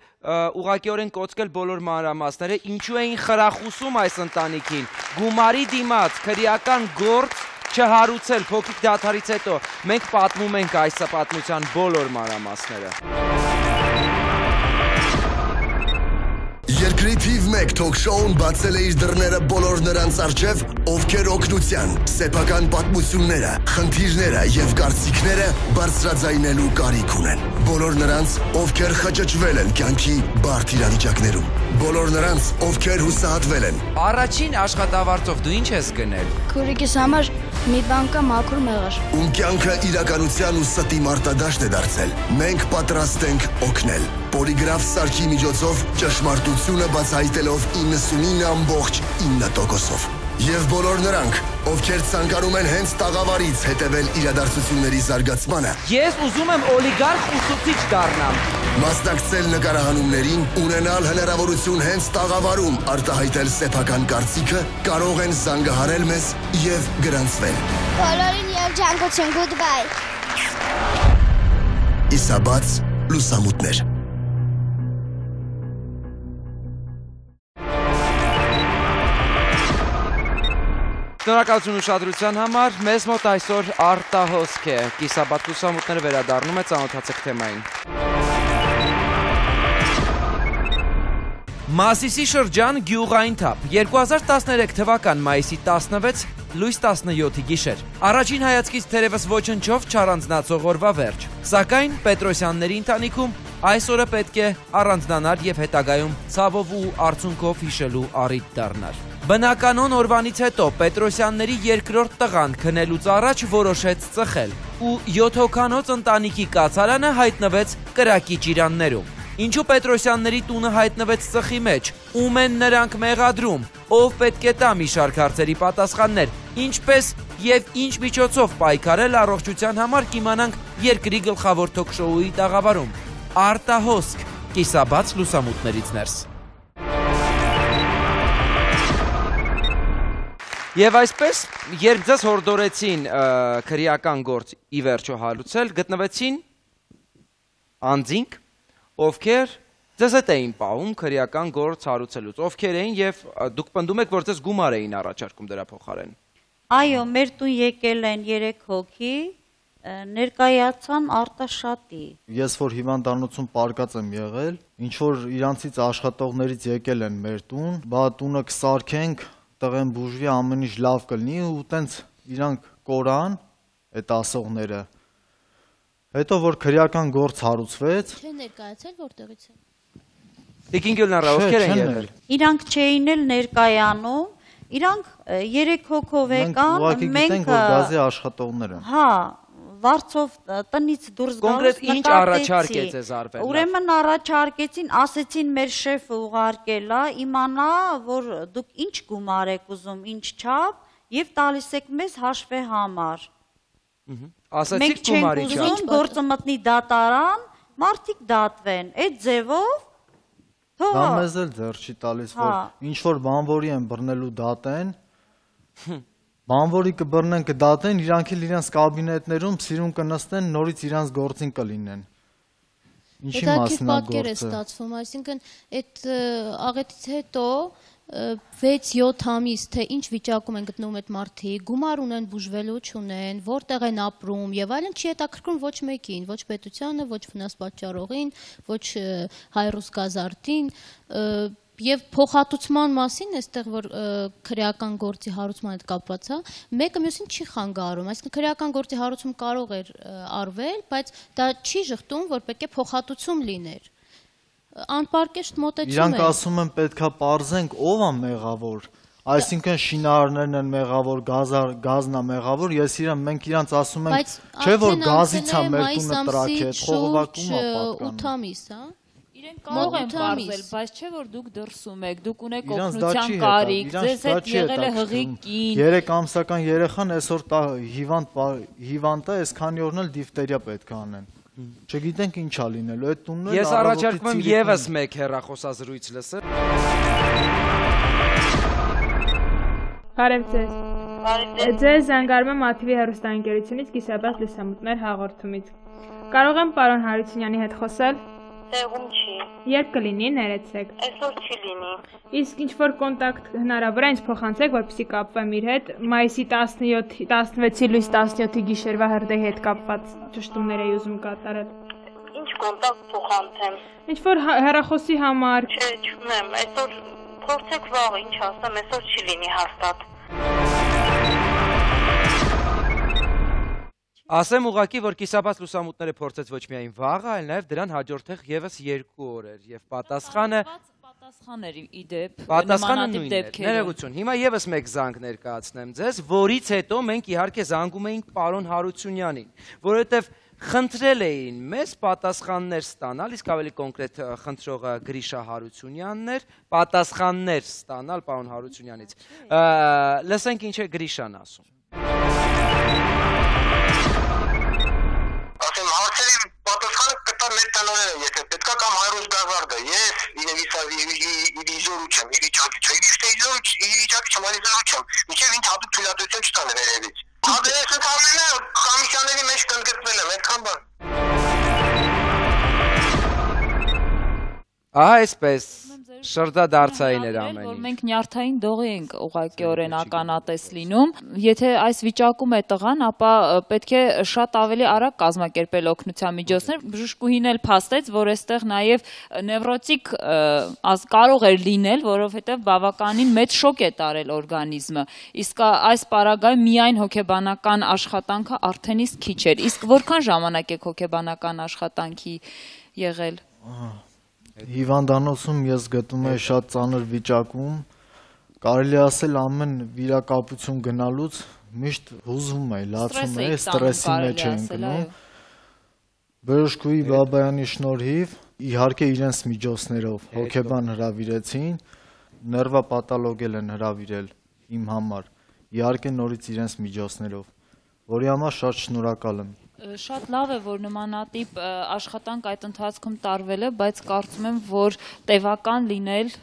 ուղղակիորեն կոծկել բոլոր մանրամասները, ինչու էին խրախուսում այս ընտանիքին գումարի դիմաց քրեական գործ չհարուցել փոքրիկ դադարից հետո։ Մենք պատմում ենք այս պատմության բոլոր մանրամասները։ Երկրի թիվ 1 թոք-շոուն բացել է իր դռները բոլոր նրանց առջև, ովքեր օգնության, սեփական պատմությունները, խնդիրները եւ կարծիքները բարձրաձայնելու կարիք ունեն։ Բոլոր նրանց, ովքեր խճճվել են կյանքի բարդ իրավիճակներում։ Բոլոր նրանց, ովքեր հուսահատվել են։ Առաջին աշխատավարձով դու ինչ ես գնել։ Քուրիկիս համար մի բան կա մաքուր մեղր։ Ում կյանքը իրականության ու ստի մարտադաշտ է դարձել։ Մենք պատրաստ ենք օգնել։ Պոլիգրաֆ սարքի միջոցով ճշմարտությունը բացահայտելով 99.9%-ով։ Եվ բոլոր նրանք, ովքեր ցանկանում են հենց տաղավարից հետևել իրադարձությունների զարգացմանը։ Ես ուզում եմ օլիգարխ ուսուցիչ դառնամ։ Մասնակցել նկարահանումներին, ունենալ հնարավորություն հենց տաղավարում արտահայտել սեփական կարծիքը, կարող են զանգահարել մեզ եւ գրանցվել։ Բոլորին եւ ջանկություն, goodbye։ Իսաբաց լուսամուտներ։ Շնորհակալություն ուշադրության համար, մեզ մոտ այսօր արտահոսք է, կիսաբաց լուսամուտները վերադառնում է, ծանոթացեք թեմային։ Մասիսի շրջան գյուղային թափ, 2013 թվական մայիսի 16, լույս 17-ի գիշեր։ Առաջին հայացքից թերևս ոչնչով չառանձնացող օրվա վերջ, սակայն Պետրոսյանների ընտանիքում այս օրը պետք է առանձնանար եւ հետագայում ցավով ու արցունքով հիշելու առիթ դառնար։ Բնականon օրվանից հետո Պետրոսյանների երկրորդ տղան քնելուց առաջ որոշեց ծխել ու 7 հոգանոց ընտանիքի կացարանը հայտնվեց կրակի ճիրաններում։ Ինչու Պետրոսյանների տունը հայտնվեց ծխի մեջ, ում են նրանք մեղադրում, ով պետք է տա մի շարք հարցերի պատասխաններ, ինչպես եւ ինչ միջոցով պայքարել առողջության համար կիմանանք երկրի գլխավոր թոք-շոուի տաղավարում։ Արտահոսք, կիսաբաց լուսամուտներից ներս։ Եվ այսպես, երբ ձեզ հորդորեցին քրեական գործ ի վերջո հարուցել, գտնվեցին անձինք, ովքեր ձեզ հետ էին պահում քրեական գործ հարուցելուց, ովքեր էին եւ դուք պնդում եք, որ ձեզ գումար էին առաջարկում դրա փոխարեն։ Այո, մեր տուն եկել են 3 հոգի, ներկայացան Արտաշատի։ Ես որ հիվանդանոցում պարկած եմ եղել, ինչ որ իրանցից աշխատողներից եկել են մեր տուն, բա տունը կսարքենք, տղեն բուժվի, ամեն ինչ լավ կլինի ու տենց իրանք կորան այդ ասողները։ Հետո որ քրեական գործ հարուցվեց, Չէ ներկայացել որտեղից է։ Տիկին Գյուլնարա, ովքեր են եղել։ Իրանք չէին էլ ներկայանում, իրանք 3 հոգով եկան, ուղղակի գիտենք որ գազի աշխատողներ են։ Հա, վարձով տնից դուրս գալուց Կոնկրետ ինչ առաջարկեց ձեզ արվել։ Ուրեմն առաջարկեցին, ասեցին մեր շեֆը ուղարկել է, իմանա, որ դուք ինչ գումար եք ուզում, ինչ չափ, եւ տալիս եք մեզ հաշվի համար։ Ասացիք Մենք գումարի չենք չափ։ ուզում գործը մտնի դատարան, մարդիկ դատվեն, այդ ձևով Դա մեզ էլ ձեռ չի տալիս, որ ինչ որ բանվորի են բռնելու դատեն, բանվորի կբռնեն կդատեն, իրանք էլ իրանց կաբինետներում սիրուն կնստեն, նորից իրանց գործին կլինեն։ Ինչի մասն է պատկեր է ստացվում, այսինքն այդ աղետից հետո 6-7 ամիս թե ինչ վիճակում են գտնվում այդ մարդիկ, գումար ունեն, բուժվելու չունեն, որտեղ են ապրում եւ այլն, չի հետաքրքրում ոչ մեկին, ոչ պետությանը, ոչ վնաս պատճառողին, ոչ հայրուս գազարտին եւ փոխհատուցման մասին այստեղ որ քրեական գործի հարուցման հետ կապված է, մեկը մյուսին չի խանգարում, այսինքն քրեական գործի հարուցում կարող էր արվել, բայց դա չի շղթում, որ պետք է փոխհատուցում լիներ։ Անպարկեշտ մոտեցում է։ Իրանք ասում են պետքա պարզենք ով է մեղավոր, այսինքն շինարարներն են մեղավոր, գազն է մեղավոր, ես իրան մենք իրանց ասում ենք, չէ որ գազից է մեր տունը տրակել, խողովակում է պատկանում։ 8 ամիս, հա։ Իրենք կարող են բարձել, բայց չէ որ դուք դրսում եք, դուք ունեք օգնության կարիք, ձեզ հետ եղել է հղի կին։ 3 ամսական երեխան այսօր հիվանդ է, այսքանի օրն էլ դիֆտերիա պետք է անեն։ Չգիտենք ինչ ա լինելու, այդ տունն էլ Ես առաջարկում եմ եւս մեկ հեռախոսազրույց լսել։ Բարև ձեզ։ Ձեզ զանգարում եմ ATV հեռուստաընկերությունից կիսաբաց լուսամուտներ հաղորդումից։ Կարող եմ պարոն Հարությունյանի հետ խոսել։ Տեղում չի։ Երբ կլինի, ներեցեք։ Այսօր չի լինի։ Իսկ ինչ որ կոնտակտ հնարավոր է ինձ փոխանցեք, որպեսզի կապվեմ իր հետ, մայիսի 16-ի լույս 17-ի գիշերվա հրդեհի հետ կապված ճշտումներ էի ուզում կատարել։ Ինչ կոնտակտ փոխանցեմ։ Ինչ որ հեռախոսի համար։ Չէ, չունեմ, այսօր փորձեք վաղ, ինչ ասեմ, այսօր չի լինի հաստատ։ Ասեմ ուղղակի, որ կիսաբաց լուսամուտները փորձեց ոչ միայն վաղը, այլ նաև դրան հաջորդող եւս 2 օրեր եւ պատասխանը պատասխանների իդեպ պատասխանը նույնն է։ Ներողություն։ Հիմա եւս մեկ զանգ ներկայացնեմ ձեզ, որից հետո մենք իհարկե զանգում էինք պարոն Հարությունյանին, որովհետեւ խնդրել էին մեզ պատասխաններ ստանալ, իսկ ավելի կոնկրետ խնդրողը Գրիշա Հարությունյանն էր, պատասխաններ ստանալ պարոն Հարությունյանից։ Լսենք ինչ է Գրիշան ասում։ Պատասխանը կտա մեր տնօրենը, եթե պետքա կամ Հայրոս Գազարդը, ես իվիզորու չեմ, իվիճակի չեմ, այլիզորու չեմ, մինչև ինձ հատուկ թույլատվություն չտան վերևից։ Ադրեսը կարմենը կոմիսիաների մեջ կընդգրկվել եմ, այդքան բան։ Այսպես շրջադարձային էր ամեն ինչ։ Որ մենք նյարդային դողի ենք ուղղակիորեն ականատես լինում, եթե այս վիճակում է տղան, ապա պետք է շատ ավելի արագ կազմակերպել օգնության միջոցներ։ Բժշկուհին էլ փաստեց, որ այստեղ նաև նևրոտիկ կարող էր լինել, որովհետև բավականին մեծ շոկ է տարել օրգանիզմը։ Իսկ այս պարագայում միայն հոգեբանական աշխատանքը արդեն իսկ քիչ էր։ Իսկ որքան ժամանակ եք հոգեբանական աշխատանքի եղել։ Հիվանդանոցում ես գտնում եմ շատ ծանր վիճակում, կարելի ասել ամեն վիրակապություն գնալուց միշտ հուզվում է, լացում է, ստրեսի մեջ է ընկնում։ Բժշկուհի Բաբայանի շնորհիվ, իհարկե իրենց միջոցներով հոգեբան հրավիրեցին, ներվապաթոլոգ են հրավիրել իմ համար, իհարկե նորից իրենց միջոցներով, որի համար շատ շնորհակալ եմ։ Շատ լավ է, որ նմանատիպ աշխատանք այդ ընթացքում տարվել է, բայց կարծում եմ, որ տևական լինել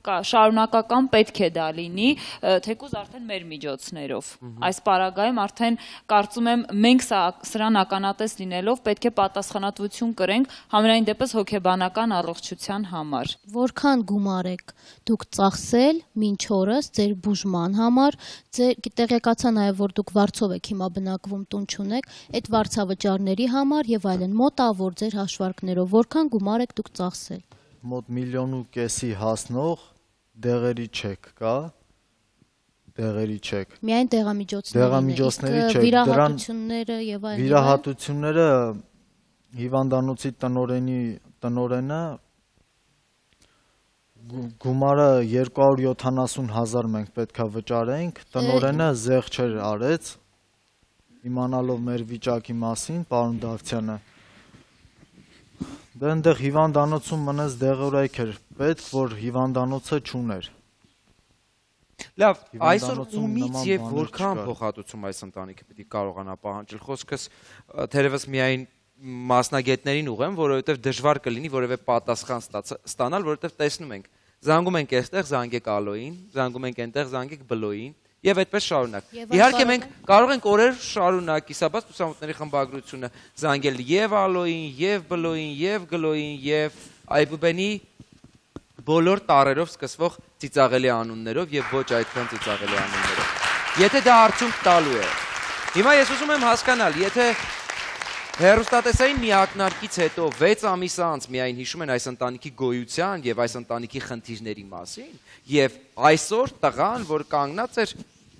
շարունակական պետք է դա լինի, թեկուզ արդեն մեր միջոցներով։ Այս պարագայում արդեն կարծում եմ մենք սրան ականատես լինելով պետք է պատասխանատվություն կրենք համենայն դեպս հոգեբանական առողջության համար։ Որքան գումար եք դուք ծախսել մինչ օրս ձեր բուժման համար, տեղեկացա նաև որ դուք վարձով եք հիմա բնակվում, տուն չունեք, այդ վարձավճարների համար եւ այլն, մոտավոր ձեր հաշվարկներով որքան գումար եք դուք ծախսել։ Մոտ 1,5 միլիոն հասնող դեղերի չեք կա, դեղերի չեք։ Միայն դեղամիջոցների չեք, վիրահատությունները եւ այլն։ Վիրահատությունները հիվանդանոցի տնօրենը գումարը 270,000 մենք պետքա վճարենք, տնօրենը զեղչեր արեց, իմանալով մեր վիճակի մասին, պարոն Դավթյանը։ Դե այնտեղ հիվանդանոցում մնաց դեղորայք էր պետք, որ հիվանդանոցը չուներ։ Լավ, այսօր ումից եւ որքան փոխհատուցում այս ընտանիքը պիտի կարողանա պահանջել։ Խոսքս թերևս միայն մասնագետներին ուղեմ, որովհետեւ դժվար կլինի որևէ պատասխան ստանալ, որովհետեւ տեսնում ենք, զանգում ենք այստեղ, զանգեք Ալոյին, զանգում ենք այնտեղ, զանգեք Բլոյին, եւ այդպես շարունակ։ Իհարկե մենք կարող ենք օրեր շարունակ կիսաբաց լուսամուտների խմբագրությունը զանգել եւ Ալոյին, եւ Բլոյին, եւ Գլոյին, եւ Այբուբենի բոլոր տարերով սկսվող ծիծաղելի անուններով եւ ոչ այդքան ծիծաղելի անուններով։ Եթե դա արդյունք տալու է։ Հիմա ես ուզում եմ հասկանալ, եթե հեռուստատեսային մի ակնարկից հետո 6 ամիս անց միայն հիշում են այս ընտանիքի գոյության եւ այս ընտանիքի խնդիրների մասին եւ այսօր տղան, որ կանգնած էր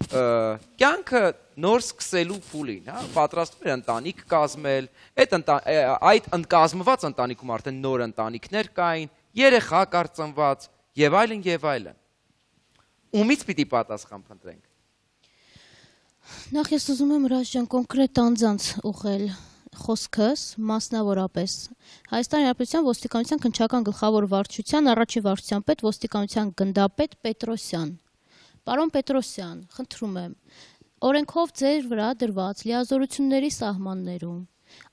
կյանքը նոր սկսելու փուլին, հա, պատրաստվում էր ընտանիք կազմել, այդ կազմված ընտանիքում արդեն նոր ընտանիքներ կային, երեխա կար ծնված եւ այլն եւ այլն։ Ումից պիտի պատասխան փնտրենք։ Նախ ես ուզում եմ Ռաշ ջան կոնկրետ անձանց ուղղել խոսքս մասնավորապես Հայաստանի Հանրապետության ոստիկանության քննչական գլխավոր վարչության առաջին վարչության պետ ոստիկանության գնդապետ Պետրոսյան։ Պարոն Պետրոսյան, խնդրում եմ, օրենքով ձեր վրա դրված լիազորությունների սահմաններում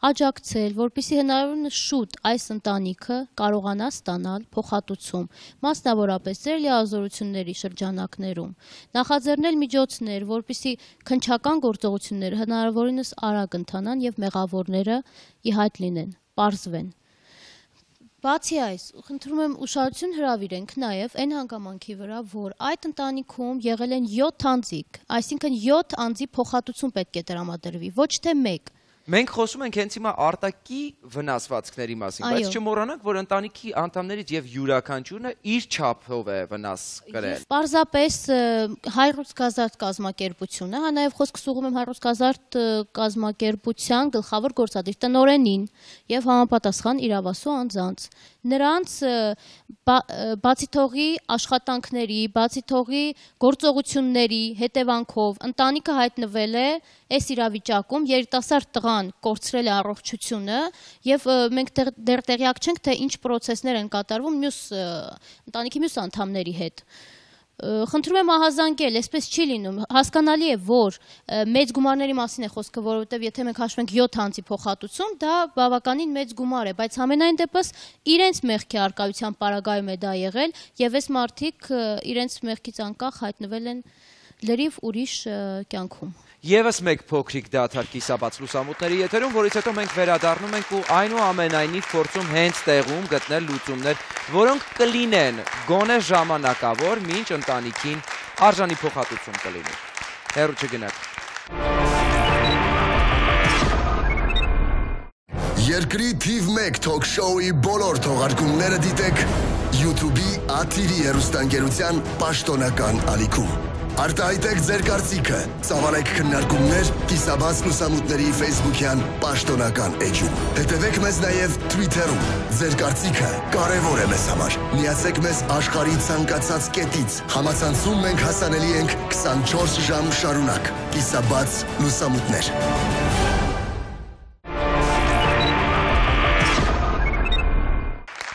աջակցել, որպեսզի հնարավորինս շուտ այս ընտանիքը կարողանա ստանալ փոխհատուցում, մասնավորապես ձեր լիազորությունների շրջանակներում, նախաձեռնել միջոցներ, որպեսզի քննչական գործողությունները հնարավորինս արագ ընթանան եւ մեղավորները ի հայտ լինեն, պարզվեն։ Բացի այս, խնդրում եմ ուշադրություն հրավիրենք նաև այն հանգամանքի վրա, որ այդ ընտանիքում եղել են 7 անձիկ, այսինքն 7 անձի փոխհատուցում պետք է տրամադրվի, ոչ թե 1։ Մենք խոսում ենք հենց հիմա արտակի վնասվածքների մասին, բայց չմոռանանք, որ ընտանիքի անդամներից եւ յուրաքանչյուրը իր չափով է վնաս կրել։ Պարզապես Հայրուց Գազարդ կազմակերպությունը, հա նաև խոսքս ուղղում եմ Հայրուց Գազարդ կազմակերպության գլխավոր գործադիր տնօրենին եւ համապատասխան իրավասու անձանց։ Նրանց բացի թողի աշխատանքների, բացի թողի գործողությունների հետևանքով ընտանիքը հայտնվել է այս իրավիճակում, երիտասարդ տղան կորցրել է առողջությունը եւ մենք դեռ տեղյակ չենք, թե ինչ պրոցեսներ են կատարվում ընտանիքի մյուս անդամների հետ։ Խնդրում եմ ահազանգել, այսպես չի լինում, հասկանալի է, որ մեծ գումարների մասին է խոսքը, որովհետև եթե մենք հաշվենք 7 անձի փոխհատուցում, դա բավականին մեծ գումար է, բայց համենայն դեպս իրենց մեղքի արկայության պարագայում է դա եղել եւ այս մարդիկ իրենց մեղքից անկախ հայտնվել են լրիվ ուրիշ կյանքում։ Եվս մեկ փոքրիկ դադար կիսաբաց լուսամուտների եթերում, որից հետո մենք վերադառնում ենք ու այնուամենայնիվ փորձում հենց տեղում գտնել լուծումներ, որոնք կլինեն գոնե ժամանակավոր, մինչ ընտանիքին արժանի փոխհատուցում կլինի։ Հեռու չգնաք։ Երկրի թիվ 1 թոք շոուի բոլոր թողարկումները դիտեք YouTube-ի ԱԹԻ-ի հեռուստաընկերության պաշտոնական ալիքում։ Արտահայտեք ձեր կարծիքը, ծավալեք քննարկումներ կիսաբաց լուսամուտների Facebook-յան պաշտոնական էջում։ Հետևեք մեզ նաև Twitter-ում։ Ձեր կարծիքը կարևոր է մեզ համար։ Միացեք մեզ աշխարհի ցանկացած կետից։ Համացանցում մենք հասանելի ենք 24 ժամ շարունակ։ Կիսաբաց լուսամուտներ։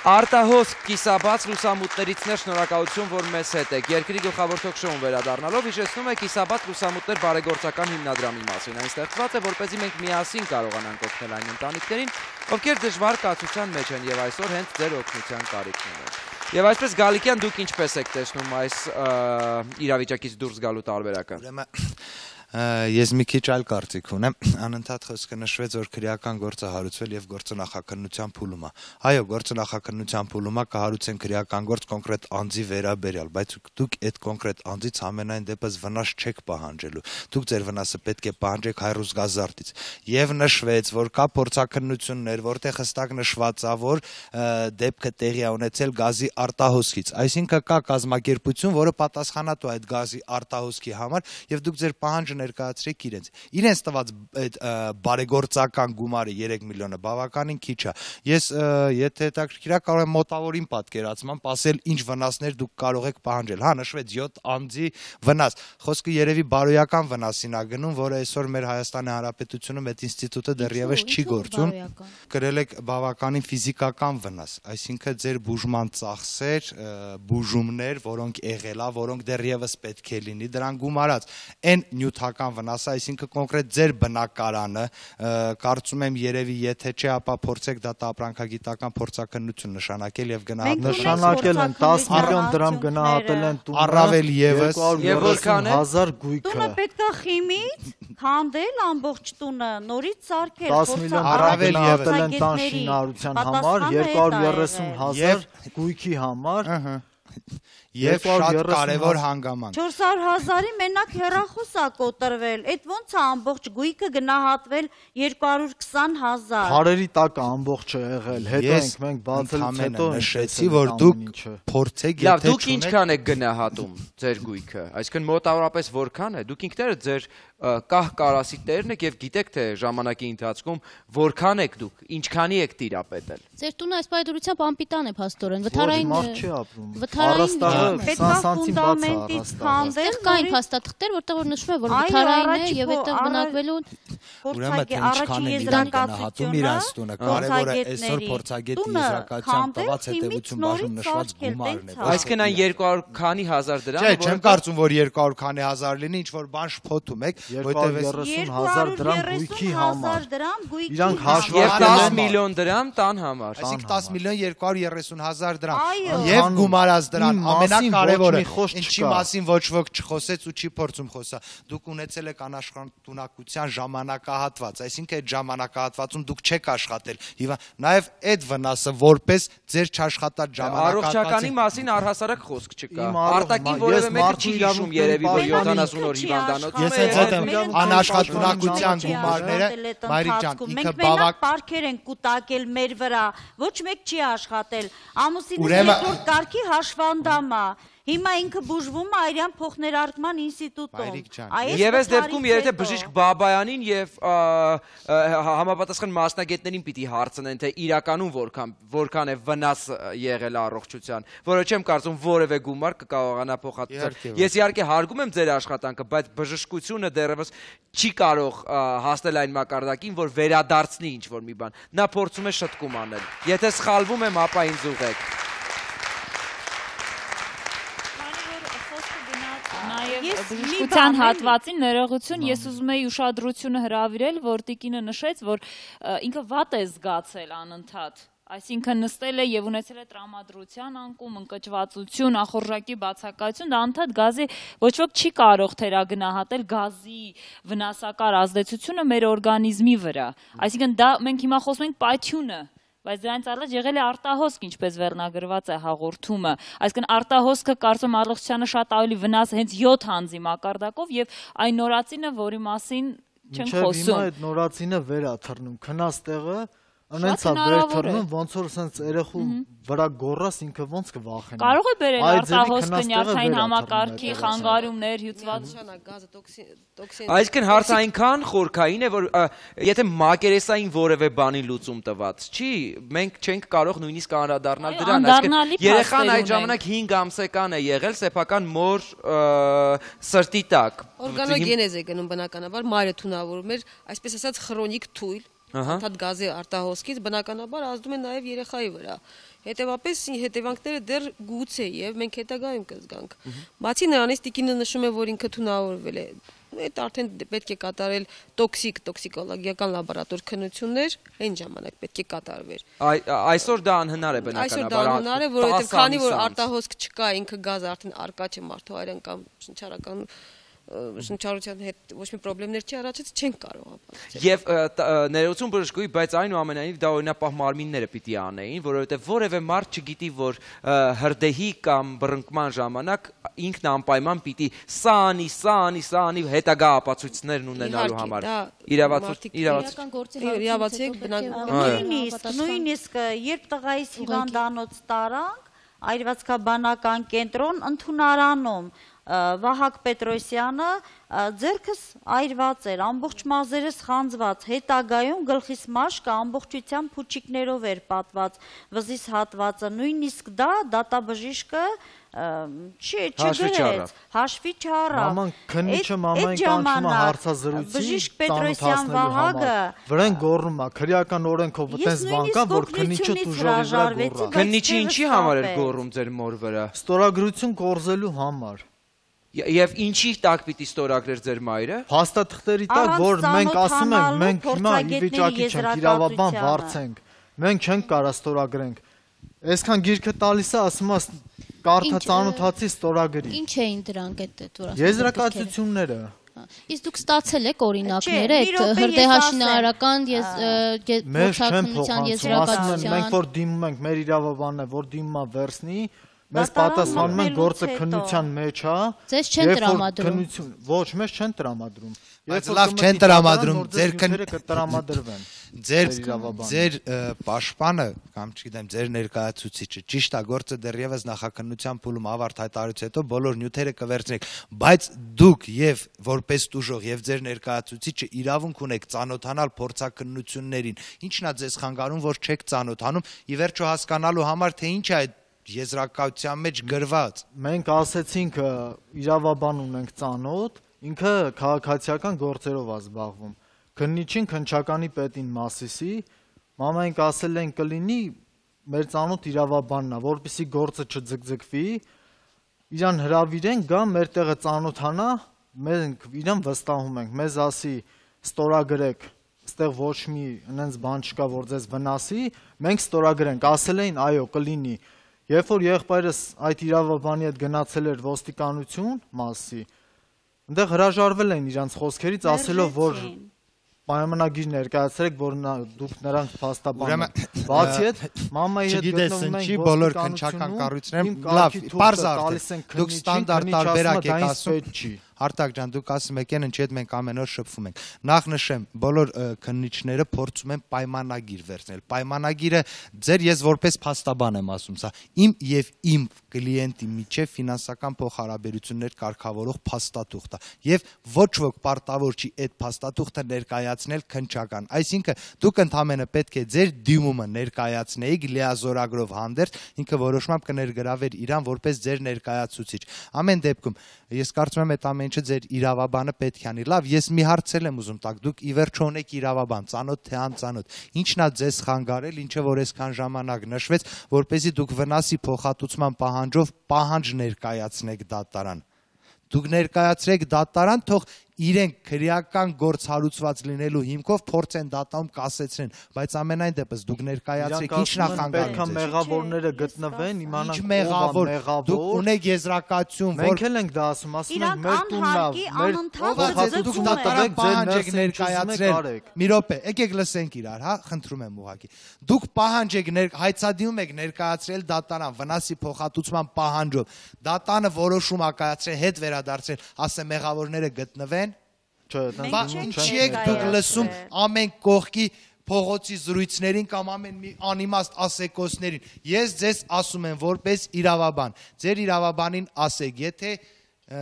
Արտահոսք կիսաբաց լուսամուտներիցներ շնորհակալություն, որ մեզ հետ եք։ Երկրի գլխավոր թոք-շոուն վերադառնալով հիշեցնում է կիսաբաց լուսամուտներ բարեգործական հիմնադրամի մասին։ Այն ստեղծված է, որպեսզի մենք միասին կարողանանք օգնել այն ընտանիքներին, ովքեր դժվար կացության մեջ են եւ այսօր հենց ձեր օգնության կարիքն ունեն։ Եվ այսպես Գալիկյան, դուք ինչպես եք տեսնում այս իրավիճակից դուրս գալու տարբերակը։ Ես մի քիչ այլ կարծիք ունեմ, անընդհատ խոսքը նշվեց, որ քրեական գործը հարուցվել եւ գործնախաքննության փուլում է։ Այո, գործնախաքննության փուլում է կհարուցեն քրեական գործ կոնկրետ անձի վերաբերյալ, բայց դուք այդ կոնկրետ անձից ամենայն դեպս վնաս չեք պահանջելու։ Դուք ձեր վնասը պետք է պահանջեք Հայրուց Գազարդից։ Եվ նշվեց, որ կա փորձաքննություններ, որտեղ հստակ նշված է, որ դեպքը տեղի է ունեցել գազի արտահոսքից։ Այսինքն կա կազմակերպություն, որը պատասխանատու է այդ գազի արտահոսքի համար, եւ դուք ձեր պահանջը ներկայացրեք իրենց տված այդ բարեգործական գումարը 3 միլիոնը բավականին քիչ է։ Ես եթե հետաքրքիր է կարող եմ մոտավորին պատկերացմամբ ասել ինչ վնասներ դուք կարող եք պահանջել։ Հա, նշվեց 7 անձի վնաս։ Խոսքը երևի բարոյական վնասին է գնում, որը այսօր մեր Հայաստանի Հանրապետությունում այդ ինստիտուտը դեռևս չի գործում։ Կրել եք բավականին ֆիզիկական վնաս, այսինքն ձեր բուժման ծախսեր, բուժումներ, որոնք եղել է, որոնք դեռևս պետք է լինի, դրան գումարած այն նյութական վնասը, այսինքն կոնկրետ ձեր բնակարանը, կարծում եմ երևի եթե չէ, ապա փորձեք դա ապրանքագիտական փորձաքննություն նշանակել եւ գնահատել։ Նշանակել են 10 միլիոն դրամ գնահատել են տունը, առավել եւս 230,000 գույքը։ Տունը պետքա խիմից քանդել ամբողջ տունը, նորից սարքել, 10 միլիոն առավել եղել են տան շինարարության համար, 230,000 գույքի համար։ Եվ շատ կարևոր հանգամանք։ 400,000-ի մենակ հեռախոս է կոտրվել։ Այդ ոնց է ամբողջ գույքը գնահատվել 220,000։ Քարերի տակ ամբողջը եղել։ Հետո մենք բացելուց հետո նշեցի, որ դուք փորձեք եթե դուք ինչքան եք գնահատում ձեր գույքը, այսինքն մոտավորապես որքան է։ Դուք ինքներդ ձեր կահ կարասի տերն եք եւ գիտեք թե ժամանակի ընթացքում որքան եք դուք, ինչքանի եք տիրապետել։ Ձեր տունը այս պայդրությամբ անպիտան է փաստորեն, վթարային կային փաստաթղթեր, որտեղ որ նշվում է, որ վթարային է եւ այդտեղ բնակվելու առաջի եզրակացությունը իրանց տունը, կարևորը այսօր փորձագետի եզրակացությամբ տված հետևություն բաժնում նշված գումարն է։ Այսինքն այն 200 քանի հազար դրամ, չէ, չեմ կարծում, որ 200 քանի հազար լինի, ինչ որ բան շփոթում եք, 230,000 դրամ գույքի համար։ Իրանք հաշվարկել են 10 միլիոն դրամ տան համար։ Այսինքն 10 միլիոն 230,000 դրամ։ Եվ գումարած դրան ամենակարևորը, ինչի մասին ոչ ոք չխոսեց ու չի փորձում խոսա։ Դուք ունեցել եք անաշխատունակության ժամանակահատված, այսինքն այդ ժամանակահատվածում դուք չեք աշխատել։ Եվ նաև այդ վնասը որպես ձեր չաշխատած ժամանակահատվածի առողջականի մասին առհասարակ խոսք չկա։ Արտակին որևէ մեկը չի հիշում երևի, որ 70 օր հիվանդանոց։ Ես այդ եմ անաշխատունակության գումարները, Մայրիկ ջան, ինքը բավական պարքեր են կուտակել մեր վրա, ոչ մեկ չի աշխատել։ Ամուսինս երկրորդ կարգի հաշվանդամ է։ Հիմա ինքը բուժվում է Այրան փոխներարկման ինստիտուտում։ Եվ այս դեպքում եթե բժիշկ Բաբայանին եւ համապատասխան մասնագետներին պիտի հարցնեն, թե իրականում որքան է վնաս եղել առողջության, որը չեմ կարծում որևէ գումար կկարողանա փոխադրել։ Ես իհարկե հարգում եմ ձեր աշխատանքը, բայց բժշկությունը դեռևս չի կարող հասնել այն մակարդակին, որ վերադարձնի ինչ-որ մի բան։ Նա փորձում է շտկում անել։ Եթե սխալվում եմ, ապա ինձ ուղղեք։ Բժշկության հատվածին ներողություն, ես ուզում եի ուշադրությունը հրավիրել, որ տիկինը նշեց, որ ինքը վատ է զգացել անընդհատ, այսինքն նստել է եւ ունեցել է տրամադրության անկում, ընկճվածություն, ախորժակի բացակայություն, դա անընդհատ գազի ոչ ոք չի կարող թերագնահատել գազի վնասակար ազդեցությունը մեր օրգանիզմի վրա, այսինքն դա մենք հիմա խոսում ենք պայթյունը, բայց դրանից առաջ եղել է արտահոսք, ինչպես վերնագրված է հաղորդումը, այսինքն արտահոսքը կարծում առողջությանը շատ ավելի վնաս հենց 7 անձի մակարդակով եւ այն նորածինը, որի մասին չենք խոսում։ Հիմա այդ նորածինը վեր է թռնում, քնած տեղը Անենցա վեր թռնում, ոնց որ սենց երեխու վրա գորրաս ինքը ոնց կվախենա։ Կարող է բերել արտահոսքը նյարդային համակարգի խանգարումներ, հյուծված Այսինքն հարցը այնքան խորքային է, որ եթե մակերեսային որևէ բանի լուծում տված չի, մենք չենք կարող նույնիսկ անդրադառնալ դրան, այսինքն երեխան այդ ժամանակ 5 ամսական է եղել սեփական մոր սրտի տակ։ Օրգանոգենեզ է գնում բնականաբար, մայրը թունավորում էր, այսպես ասած քրոնիկ թույլ Անդադ գազի արտահոսքից բնականաբար ազդում է նաև երեխայի վրա։ Հետևապես հետևանքները դեռ գուցե եւ մենք հետագայում կզգանք։ Բացի նրանից տիկինը նշում է, որ ինքը թունավորվել է։ Այդ արդեն պետք է կատարել տոքսիկոլոգիական լաբորատոր քննություններ, այն ժամանակ պետք է կատարվեր։ Այսօր դա անհնար է բնականաբար։ Այսօր դա անհնար է, որովհետեւ քանի որ արտահոսք չկա, ինքը գազը արդեն արկա չէ մարդու հայրեն կամ շնչառական շնչառության հետ ոչ մի խնդիրներ չի առաջացած, չենք կարող ապացուցել։ Եվ ներողություն բժշկուի, բայց այնուամենայնիվ դա օրինապահ մարմինները պիտի անեին, որովհետև որևէ մարդ չգիտի, որ հրդեհի կամ բռնկման ժամանակ ինքն անպայման պիտի սա անի հետագա ապացույցներն ունենալու համար։ Նույնիսկ երբ տղայիս հիվանդանոց տարանք, այրվածքաբանական կենտրոն ընդունարանում Վահագ Պետրոսյանը ձերքս այրված էր, ամբողջ մազերս խանձված, հետագայում գլխիս մաշկը ամբողջությամբ փուչիկներով էր պատված, վզիս հատվածը, նույնիսկ դա դատաբժիշկը չգրեց, հաշվի չառավ։ Մաման քննիչը մամային կանչում է հարցազրույցի, բժիշկ Պետրոսյան Վահագը վրան գոռում է, քրեական օրենքով այդպես բան կա, որ քննիչը տուժովի վրա գոռա։ Քննիչը ինչի համար էր գոռում ձեր մոր վրա։ Ստորագրություն կորզելու համար։ Եվ ինչի տակ պիտի ստորագրեր ձեր մայրը։ Փաստաթղթերի տակ, որ մենք ասում ենք, մենք հիմա ի վիճակի չենք, իրավաբան վարձենք, մենք չենք կարա ստորագրենք։ Այսքան գիրքը տալիս է, ասում է կարդա ծանոթացի ստորագրի։ Ինչ էին դրանք այդ որ ասում։ Եզրակացությունները։ Իսկ դուք ստացել եք օրինակներ այդ հրդեհաշինարարական ոչակցության եզրակացության։ Մենք որ դիմում ենք, մեր իրավաբանն է, որ դիմում է վերցնի, Մեզ պատասխանում են գործը քննության մեջ է։ Ձեզ չեն տրամադրում։ Ոչ, մեզ չեն տրամադրում։ Բայց լավ չեն տրամադրում, ձեր պաշտպանը կամ չգիտեմ, ձեր ներկայացուցիչը ճիշտ է, գործը դեռևս նախաքննության փուլում ավարտ հայտարարությունից հետո բոլոր նյութերը կվերցնեք, բայց դուք եւ որպես տուժող եւ ձեր ներկայացուցիչը իրավունք ունեք ծանոթանալ փորձաքննություններին։ Ինչն է ձեզ խանգարում, որ չեք ծանոթանում, ի վերջո հասկանալու համար, թե ինչ է այդ եզրակացության մեջ գրված։ Մենք ասեցինք իրավաբան ունենք ծանոթ, ինքը քաղաքացիական գործերով է զբաղվում։ Քննիչին քննչականի պետին Մասիսի, մենք ասել ենք կլինի մեր ծանոթ իրավաբանն է, որպեսզի գործը չձգձգվի, իրան հրավիրենք, գա մեր տեղը ծանոթանա, մենք իրան վստահում ենք, մեզ ասի ստորագրեք, այստեղ ոչ մի այնպես բան չկա, որ ձեզ վնասի, մենք ստորագրենք, ասել էին այո, կլինի։ Երբ որ եղբայրս այդ իրավաբանի հետ գնացել էր ոստիկանություն Մասիսի, այնտեղ հրաժարվել են իրանց խոսքերից, ասելով, որ պայմանագիր ներկայացրեք, որ դուք նրանց փաստաբան եք։ Բացի այդ, մամայի հետ գտնվում ենք բոլոր քննչական կառույցներում, լավ, պարզ արդեն, դուք ստանդարտ տարբերակ եք ասում։ Արտակ ջան, դուք ասում եք ինչ հետ մենք ամեն օր շփվում ենք։ Նախ նշեմ, բոլոր քննիչները փորձում են պայմանագիր վերցնել։ Պայմանագիրը ձեր ես որպես փաստաբան եմ ասում, սա իմ եւ իմ կլիենտի միջև ֆինանսական փոխհարաբերություններ կարգավորող փաստաթուղթ է։ Եվ ոչ ոք պարտավոր չի այդ փաստաթուղթը ներկայացնել քննչական։ Այսինքն դուք ընդհանրապես պետք է ձեր դիմումը ներկայացնեիք լիազորագրով հանդերձ, ինքը որոշմամբ կներգրավեր իրան որպես ձեր ներկայացուցիչ։ Ամեն դեպքում ես կարծում եմ այդ ինչը ձեր իրավաբանը պետք է անի։ Լավ, ես մի հարցել եմ ուզում տակ, դուք ի վերջո ունեք իրավաբան, ծանոթ թե անծանոթ։ Ինչն է ձեզ խանգարել, ինչը որ այսքան ժամանակ նշվեց, որպեսզի դուք վնասի փոխհատուցման պահանջով պահանջ ներկայացնեք դատարան։ Դուք ներկայացրեք դատարան, թող իրենք քրեական գործ հարուցված լինելու հիմքով փորձ են դատում կասեցնեն, բայց ամենայն դեպս դուք ներկայացրեք ինչն է խանգարում։ Պետք է մեղավորները գտնվեն, իմանանք ով է մեղավոր։ Դուք ունեք եզրակացություն, որ մենք էլ ենք դա ասում ենք մեր տունն է, դուք դատարան պահանջ եք ներկայացրել։ Մի րոպե, եկեք լսենք իրար, հա, խնդրում եմ ուղղակի։ Դուք պահանջ եք հայցադիմում եք ներկայացրել դատարան վնասի փոխհատուցման պահանջով։ Դատանը որոշում ա կայացրել, հետ վերադարձել, ասե մեղավորները գտնվեն։ Ինչի եք դուք լսում ամեն կողքի փողոցի զրույցներին կամ ամեն մի անիմաստ ասեկոսներին։ Ես ձեզ ասում եմ որպես իրավաբան, ձեր իրավաբանին ասեք, եթե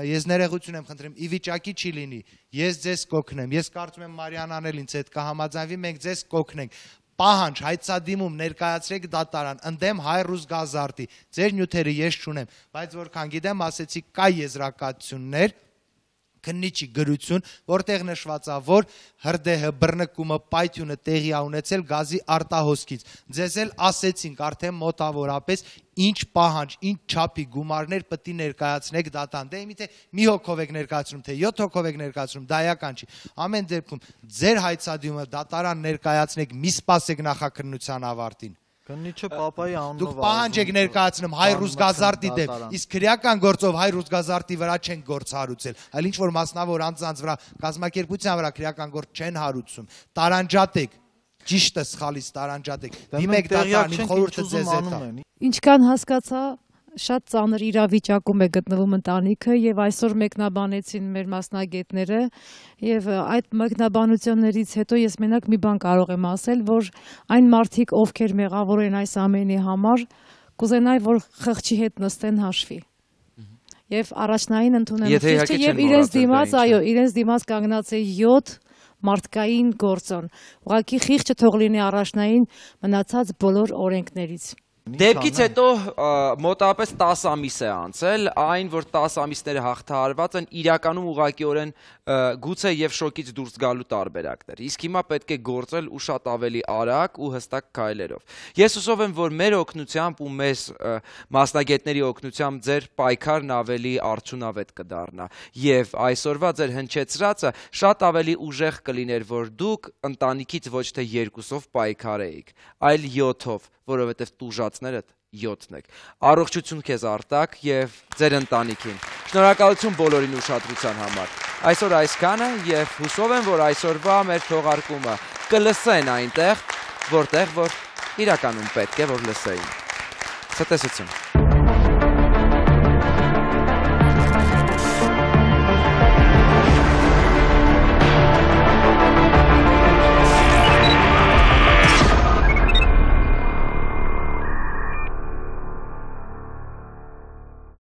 ես ներողություն եմ խնդրում, ի վիճակի չի լինի, ես ձեզ կօգնեմ, ես կարծում եմ Մարիանան էլ ինձ հետ կհամաձայնվի, մենք ձեզ կօգնենք։ Պահանջ հայցադիմում ներկայացրեք դատարան, ընդդեմ Հայրուս Գազարտի, ձեր նյութերը ես չունեմ, բայց որքան գիտեմ, ասեցի կա եզրակացություններ, քննիչի գրություն, որտեղ նշված է, որ հրդեհը, բռնկումը, պայթյունը տեղի է ունեցել գազի արտահոսքից։ Ձեզ էլ ասեցինք արդեն մոտավորապես ինչ պահանջ, ինչ չափի գումարներ պետք է ներկայացնեք դատարան։ Դե միթե մի հոգով եք ներկայացնում, թե 7 հոգով եք ներկայացնում, դա էական չի։ Ամեն դեպքում ձեր հայցադիմը դատարան ներկայացնեք, մի սպասեք նախաքննության ավարտին։ Քննիչը պապայի անունով դուք պահանջ եք ներկայացնում Հայրուս Գազարտի դեմ, իսկ քրեական գործով Հայրուս Գազարտի վրա չեն գործ հարուցել, այլ ինչ որ մասնավոր անձանց վրա, կազմակերպության վրա քրեական գործ չեն հարուցում։ Տարանջատեք, ճիշտը սխալից տարանջատեք։ Դիմեք դատարան, իմ խորհուրդը ձեզ հետ է։ Ինչքան հասկացա, շատ ծանր իրավիճակում է գտնվում ընտանիքը եւ այսօր մեկնաբանեցին մեր մասնագետները եւ այդ մեկնաբանություններից հետո ես մենակ մի բան կարող եմ ասել, որ այն մարդիկ, ովքեր մեղավոր են այս ամենի համար, կուզենայի, որ խղճի հետ նստեն հաշվի եւ առաջնային ընդունեն խիղճը եւ իրենց դիմաց, այո, իրենց դիմաց կանգնած է 7 մարդկային գործոն։ Ուղղակի խիղճը թող լինի առաջնային մնացած բոլոր օրենքներից։ Դեպքից հետո մոտավորապես 10 ամիս է անցել, այն որ 10 ամիսները հաղթահարված են իրականում ուղղակիորեն գուցե եւ շոկից դուրս գալու տարբերակներ։ Իսկ հիմա պետք է գործել ու շատ ավելի արագ ու հստակ քայլերով։ Ես հուսով եմ, որ մեր օգնությամբ ու մեզ մասնագետների օգնությամբ ձեր պայքարն ավելի արդյունավետ կդառնա եւ այսօրվա ձեր հնչեցրածը շատ ավելի ուժեղ կլիներ, որ դուք ընտանիքից ոչ թե 2-ով պայքարեիք, այլ 7-ով, որովհետև տուժածներդ 7-ն եք։ Առողջություն քեզ Արտակ եւ ձեր ընտանիքին։ Շնորհակալություն բոլորին ուշադրության համար։ Այսօր այսքանը եւ հուսով եմ, որ այսօրվա մեր թողարկումը կլսեն այնտեղ, որտեղ որ իրականում պետք է որ լսեին։ Ցտեսություն։